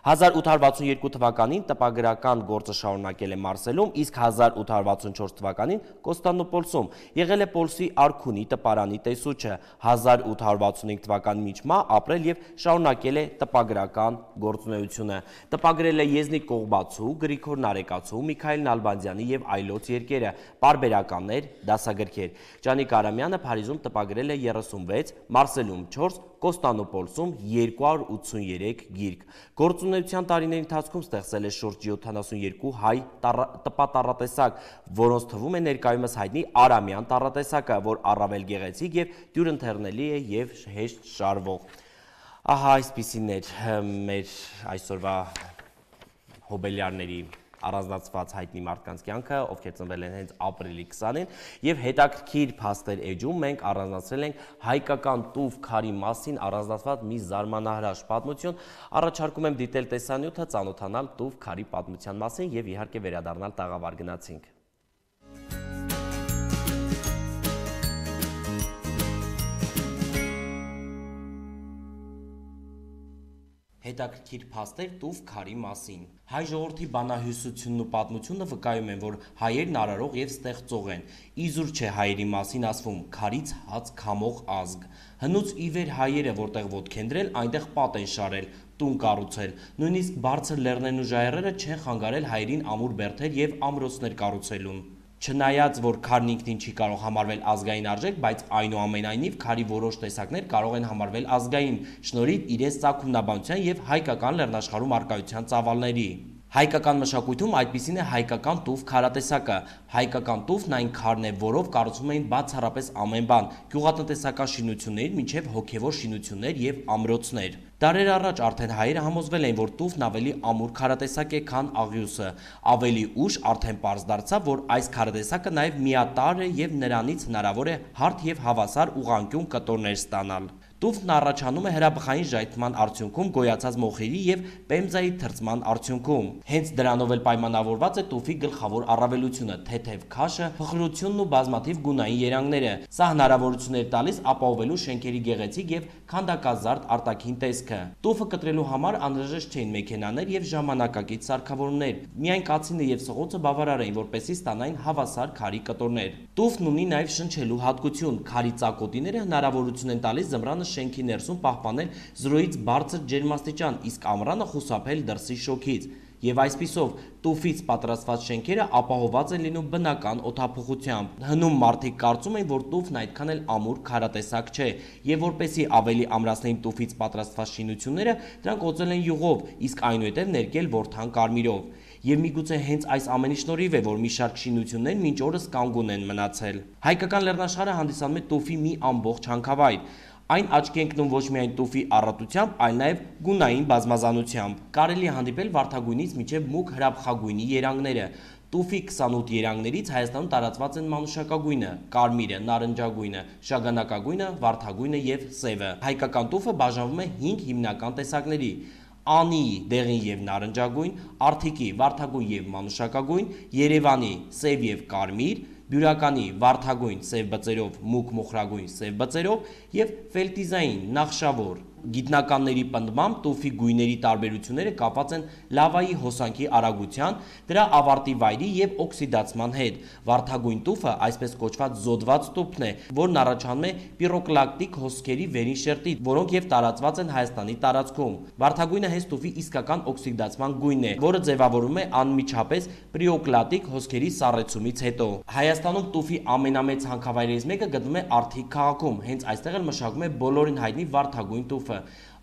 հազար ութ հարյուր վաթսուն երկու թվականին տպագրական գործը շարունակել է Մարսելում, իսկ հազար ութ հարյուր վաթսուն չորս թվականին Կոստանդնուպոլսում, եղել է Պոլսի Արքունի տպարանի տեսուչը, հազար ութ հարյուր վաթսուն հինգ թվականին մինչ մահ ապրել եւ շարունակել է տպագրական գործունեությունը։ Տպագրել է Եզնիկ Կողբացու, Գրիգոր Նարեկացու, Միքայել Նալբանդյանի եւ այլոց երկերը, պարբերականներ, դասագրքեր։ Ջանիկ Արամյանը Փարիզում տպագրել է երեսունվեց, Մարսելում չորս, Կոստանդնուպոլսում երկու հարյուր ութսուներեք գիրք։ Գործունեության տարիների ընթացքում ստեղծել է շուրջ յոթանասունյոթ հայ տպատառատեսակ, որոնց թվում է ներկայումս հայտնի Արամյան տառատեսակը, որ առավել գեղեցիկ եւ դյուրընթեռնելի է եւ հեշտ շարվող։ Ահա այսպիսին էր մեր այսօրվա հոբելյարների առանձնացված հայտնի մարդկանց կյանքը, ովքեր ծնվել են հենց ապրիլի քսանին, եւ հետաքրքիր փաստեր էջում մենք առանձնացրել ենք հայկական տուֆ քարի մասին առանձնացված մի զարմանահրաշ պատմություն։ Առաջարկում եմ դիտել տեսանյութը, ծանոթանալ տուֆ քարի պատմության մասին եւ իհարկե վերադառնալ տաղավար գնացինք։ Հետաքրքիր փաստեր տուֆ քարի մասին։ Հայ ժողովրդի բանահյուսությունն ու պատմությունը վկայում են, որ հայերն արարող եւ ստեղծող են։ Իզուր չէ հայերի մասին ասվում՝ քարից հաց քամող ազգ։ Հնուց ի վեր հայերը, որտեղ ոտք են դրել, այնտեղ պատ են շարել, տուն կառուցել։ Նույնիսկ բարձր լեռներն ու ժայռերը չեն խանգարել հայերին ամուր բերդեր եւ ամրոցներ կառուցելուն։ Չնայած, որ քարն ինքնին չի կարող համարվել ազգային արժեք, բայց այնուամենայնիվ քարի որոշ տեսակներ կարող են համարվել ազգային, շնորհիվ իրենց ծագումնաբանության եւ հայկական լեռնաշխարհում առկայության ծավալների։ Հայկական մշակույթում այդպիսին է հայկական տուֆ քարատեսակը։ Հայկական տուֆն այն քարն է, որով կառուցում էին բացառապես ամեն բան՝ գյուղատնտեսական շինություններ, մինչև հոգևոր շինություններ եւ ամրոցներ։ Դարեր առաջ արդեն հայերը համոզվել էին, որ տուֆն ավելի ամուր քարատեսակ է, քան աղյուսը։ Ավելի ուշ արդեն պարզ դարձավ, որ այս քարատեսակը նաև միատարր է եւ նրանից հնարավոր է հարթ եւ հավասար ուղղանկյուն կտորներ ստանալ։ Տուֆն առաջանում է հրաբխային ժայթման արդյունքում գոյացած մոխիրի եւ պեմզայի թրծման արդյունքում։ Հենց դրանով էլ պայմանավորված է տուֆի գլխավոր առավելությունը՝ թեթև քաշը, փխրությունն ու բազմաթիվ գունային երանգները։ Սա հնարավորություն էր տալիս ապահովելու շենքերի գեղեցիկ եւ քանդակազարդ արտաքին տեսքը։ Տուֆը կտրելու համար անհրաժեշտ չէին մեքենաներ եւ ժամանակակից սարքավորումներ։ Միայն կացինը եւ սղոցը բավարար էին, որպեսզի ստանային հավասար քարի կտորներ։ Տուֆն ունի նաեւ շնչելու հատկություն։ Քարի ծակոտիները հնարավորություն են տալիս զմրանը շենքի ներսում պահպանել զրոյից բարձր ջերմաստիճան, իսկ ամռանը խուսափել դրսի շոգից։ Եվ այսպիսով տուֆից պատրաստված շենքերը ապահովված են լինում բնական օդափոխությամբ։ Հնում մարդիկ կարծում են, որ տուֆն այդքան էլ ամուր քարատեսակ չէ, եւ որպեսզի ավելի ամրացնեին տուֆից պատրաստված շինությունները, դրանք օծել են յուղով, իսկ այնուհետև ներկել որդան կարմիրով։ Եվ միգուցե հենց այս ամենի շնորհիվ է, որ մի շարք շինություններ մինչ օրս կանգուն են մնացել։ Հայկական լեռնաշխարհը հանդիսանում է տուֆի մի ամբողջ հանքավայր։ Այն աչքի ընկնում ոչ միայն տուֆի առատությամբ, այլ նաև գունային բազմազանությամբ։ Կարելի է հանդիպել վարդագույնից մինչև մուգ հրաբխագույնի երանգները։ Տուֆի քսանութ երանգներից Հայաստանում տարածված են մանուշակագույնը, կարմիրը, նարնջագույնը, շագանակագույնը, վարդագույնը եւ սևը։ Հայկական տուֆը բաժանվում է հինգ հիմնական տեսակների՝ Անի դեղին եւ նարնջագույն, Արթիկի վարդագույն եւ մանուշակագույն, Երևանի սև եւ կարմիր, Բյուրականի վարդագույն սև բծերով, մուգ մոխրագույն սև բծերով եւ ֆելտիզային նախշավոր։ Գիտնականների պնդմամբ տուֆի գույների տարբերությունները կապված են լավայի հոսանքի արագության, դրա ավարտի վայրի եւ օքսիդացման հետ։ Վարդագույն տուֆը այսպես կոչված զոդված տուփն է, որն առաջանում է պիրոկլակտիկ հոսքերի վերին շերտից, որոնք եւ տարածված են Հայաստանի տարածքում։ Վարդագույնը հենց տուֆի իսկական օքսիդացման գույնն է, որը ձևավորվում է անմիջապես պիրոկլատիկ հոսքերի սառեցումից հետո։ Հայաստանում տուֆի ամենամեծ հանքավայրերից մեկը գտնվում է Արթիկ քաղաքում, հենց այստեղ էլ մշակվում է բոլորին հայտնի վարդագույն տուֆը։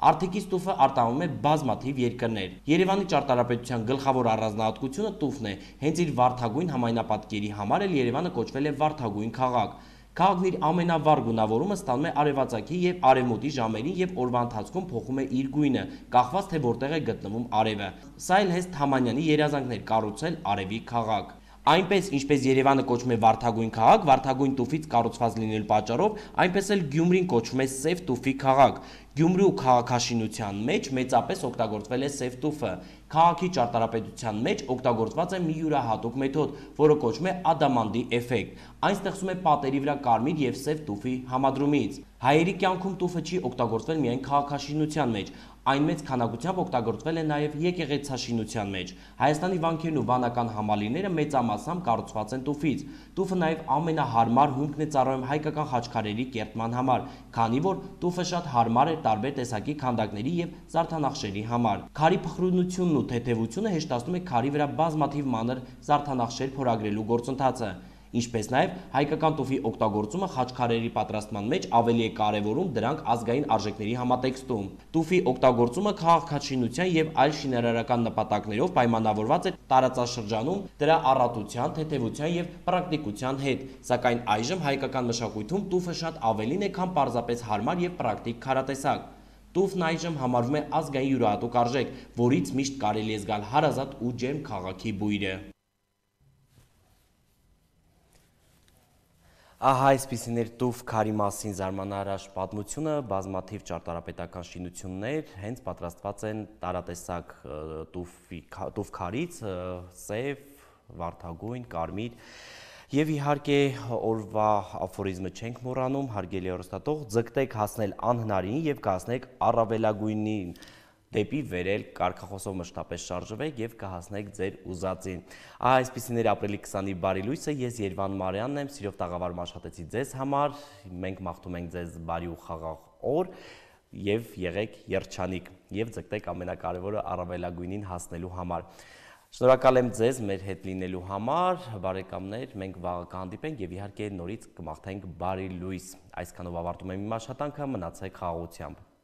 Արթիկից տուֆը արտահանում է բազմաթիվ երկրներ։ Երևանի ճարտարապետության գլխավոր առանձնահատկությունը տուֆն է, հենց իր վարդագույն համայնապատկերի համար էլ Երևանը կոչվել է վարդագույն քաղաք։ Քաղաքն իր ամենավառ գունավորումը ստանում է արևածագի եւ արևմուտքի ժամերին եւ օրվա ընթացքում փոխում է իր գույնը, կախված թե որտեղ է գտնվում արևը։ Սա էլ հենց Թամանյանի երազանքն էր կառուցել արևի քաղաք։ Այնպես ինչպես Երևանը կոչվում է վարդագույն քաղաք, վարդագույն տուֆից կառուցված լինելու պատճառով, այնպես էլ Գյումրին կոչվում է սև տուֆի քաղաք։ Գյումրու քաղաքաշինության մեջ մեծապես օգտագործվել է սև տուֆը։ Քաղաքի ճարտարապետության մեջ օգտագործված է մի յուրահատուկ մեթոդ, որը կոչվում է ադամանդի էֆեկտ։ Այն ստեղծում է պատերի վրա կարմիր եւ սև տուֆի համադրումից։ Հայերի կյանքում տուֆը չի օգտագործվել միայն քաղաքաշինության մեջ, այն մեծ քանակությամբ օգտագործվել է նաև եկեղեցաշինության մեջ։ Հայաստանի վանքերն ու վանական համալիրները մեծամասամբ կառուցված են տուֆից։ Տուֆը նաև ամենահարմար հումքն է ծառայում հայկական խաչքարերի կերտման համար, քանի որ տուֆը շատ հարմար է տարբեր տեսակի քանդակների եւ զարդանախշերի համար։ Քարի փխրունությունն ու թեթևությունը հեշտացնում է քարի վրա բազմաթիվ մանր զարդանախշեր փորագրելու գործընթացը։ Ինչպես նաև հայկական տուֆի օգտագործումը խաչքարերի պատրաստման մեջ ավելի է կարևորում դրանք ազգային արժեքների համատեքստում։ Տուֆի օգտագործումը քաղաքաշինության եւ այլ շինարարական նպատակներով պայմանավորված է տարածաշրջանում դրա առատության, թեթևության եւ պրակտիկության հետ, սակայն այժմ հայկական մշակույթում տուֆը շատ ավելին է, քան պարզապես հարմար եւ պրակտիկ քարատեսակ։ Տուֆն այժմ համարվում է ազգային յուրահատուկ արժեք, որից միշտ կարելի է զգալ հարազատ ու ջերմ քաղաքի բույրը։ Ահա այսպիսին էր տուֆ քարի մասին զարմանահրաշ պատմությունը, բազմաթիվ ճարտարապետական շինություններ հենց պատրաստված են տարատեսակ տուֆ քարից, սև, վարդագույն, կարմիր, եւ իհարկե օրվա աֆորիզմը չենք մոռանում, հարգելի հեռուստատող, ձգտեք հասնել անհնարինի եւ կհասնեք առավելագույնին, դեպի վերել կարգախոսով մշտապես շարժվեք եւ կհասնեք ձեր ուզածին։ Ահա այսպիսին էր ապրիլի քսանի բարի լույսը, ես Երվան Մարյանն եմ, սիրով տաղավարում աշխատեցի ձեզ համար, մենք մաղթում ենք ձեզ բարի ու խաղաղ օր եւ եղեք երջանիկ եւ ձգտեք ամենակարևորը առավելագույնին հասնելու համար։ Շնորհակալ եմ ձեզ մեր հետ լինելու համար, բարեկամներ, մենք վաղը կհանդիպենք եւ իհարկե նորից կմաղթենք բարի լույս։ Այսքանով ավարտում եմ իմ աշխատանքը, մնացեք խաղաղությամբ։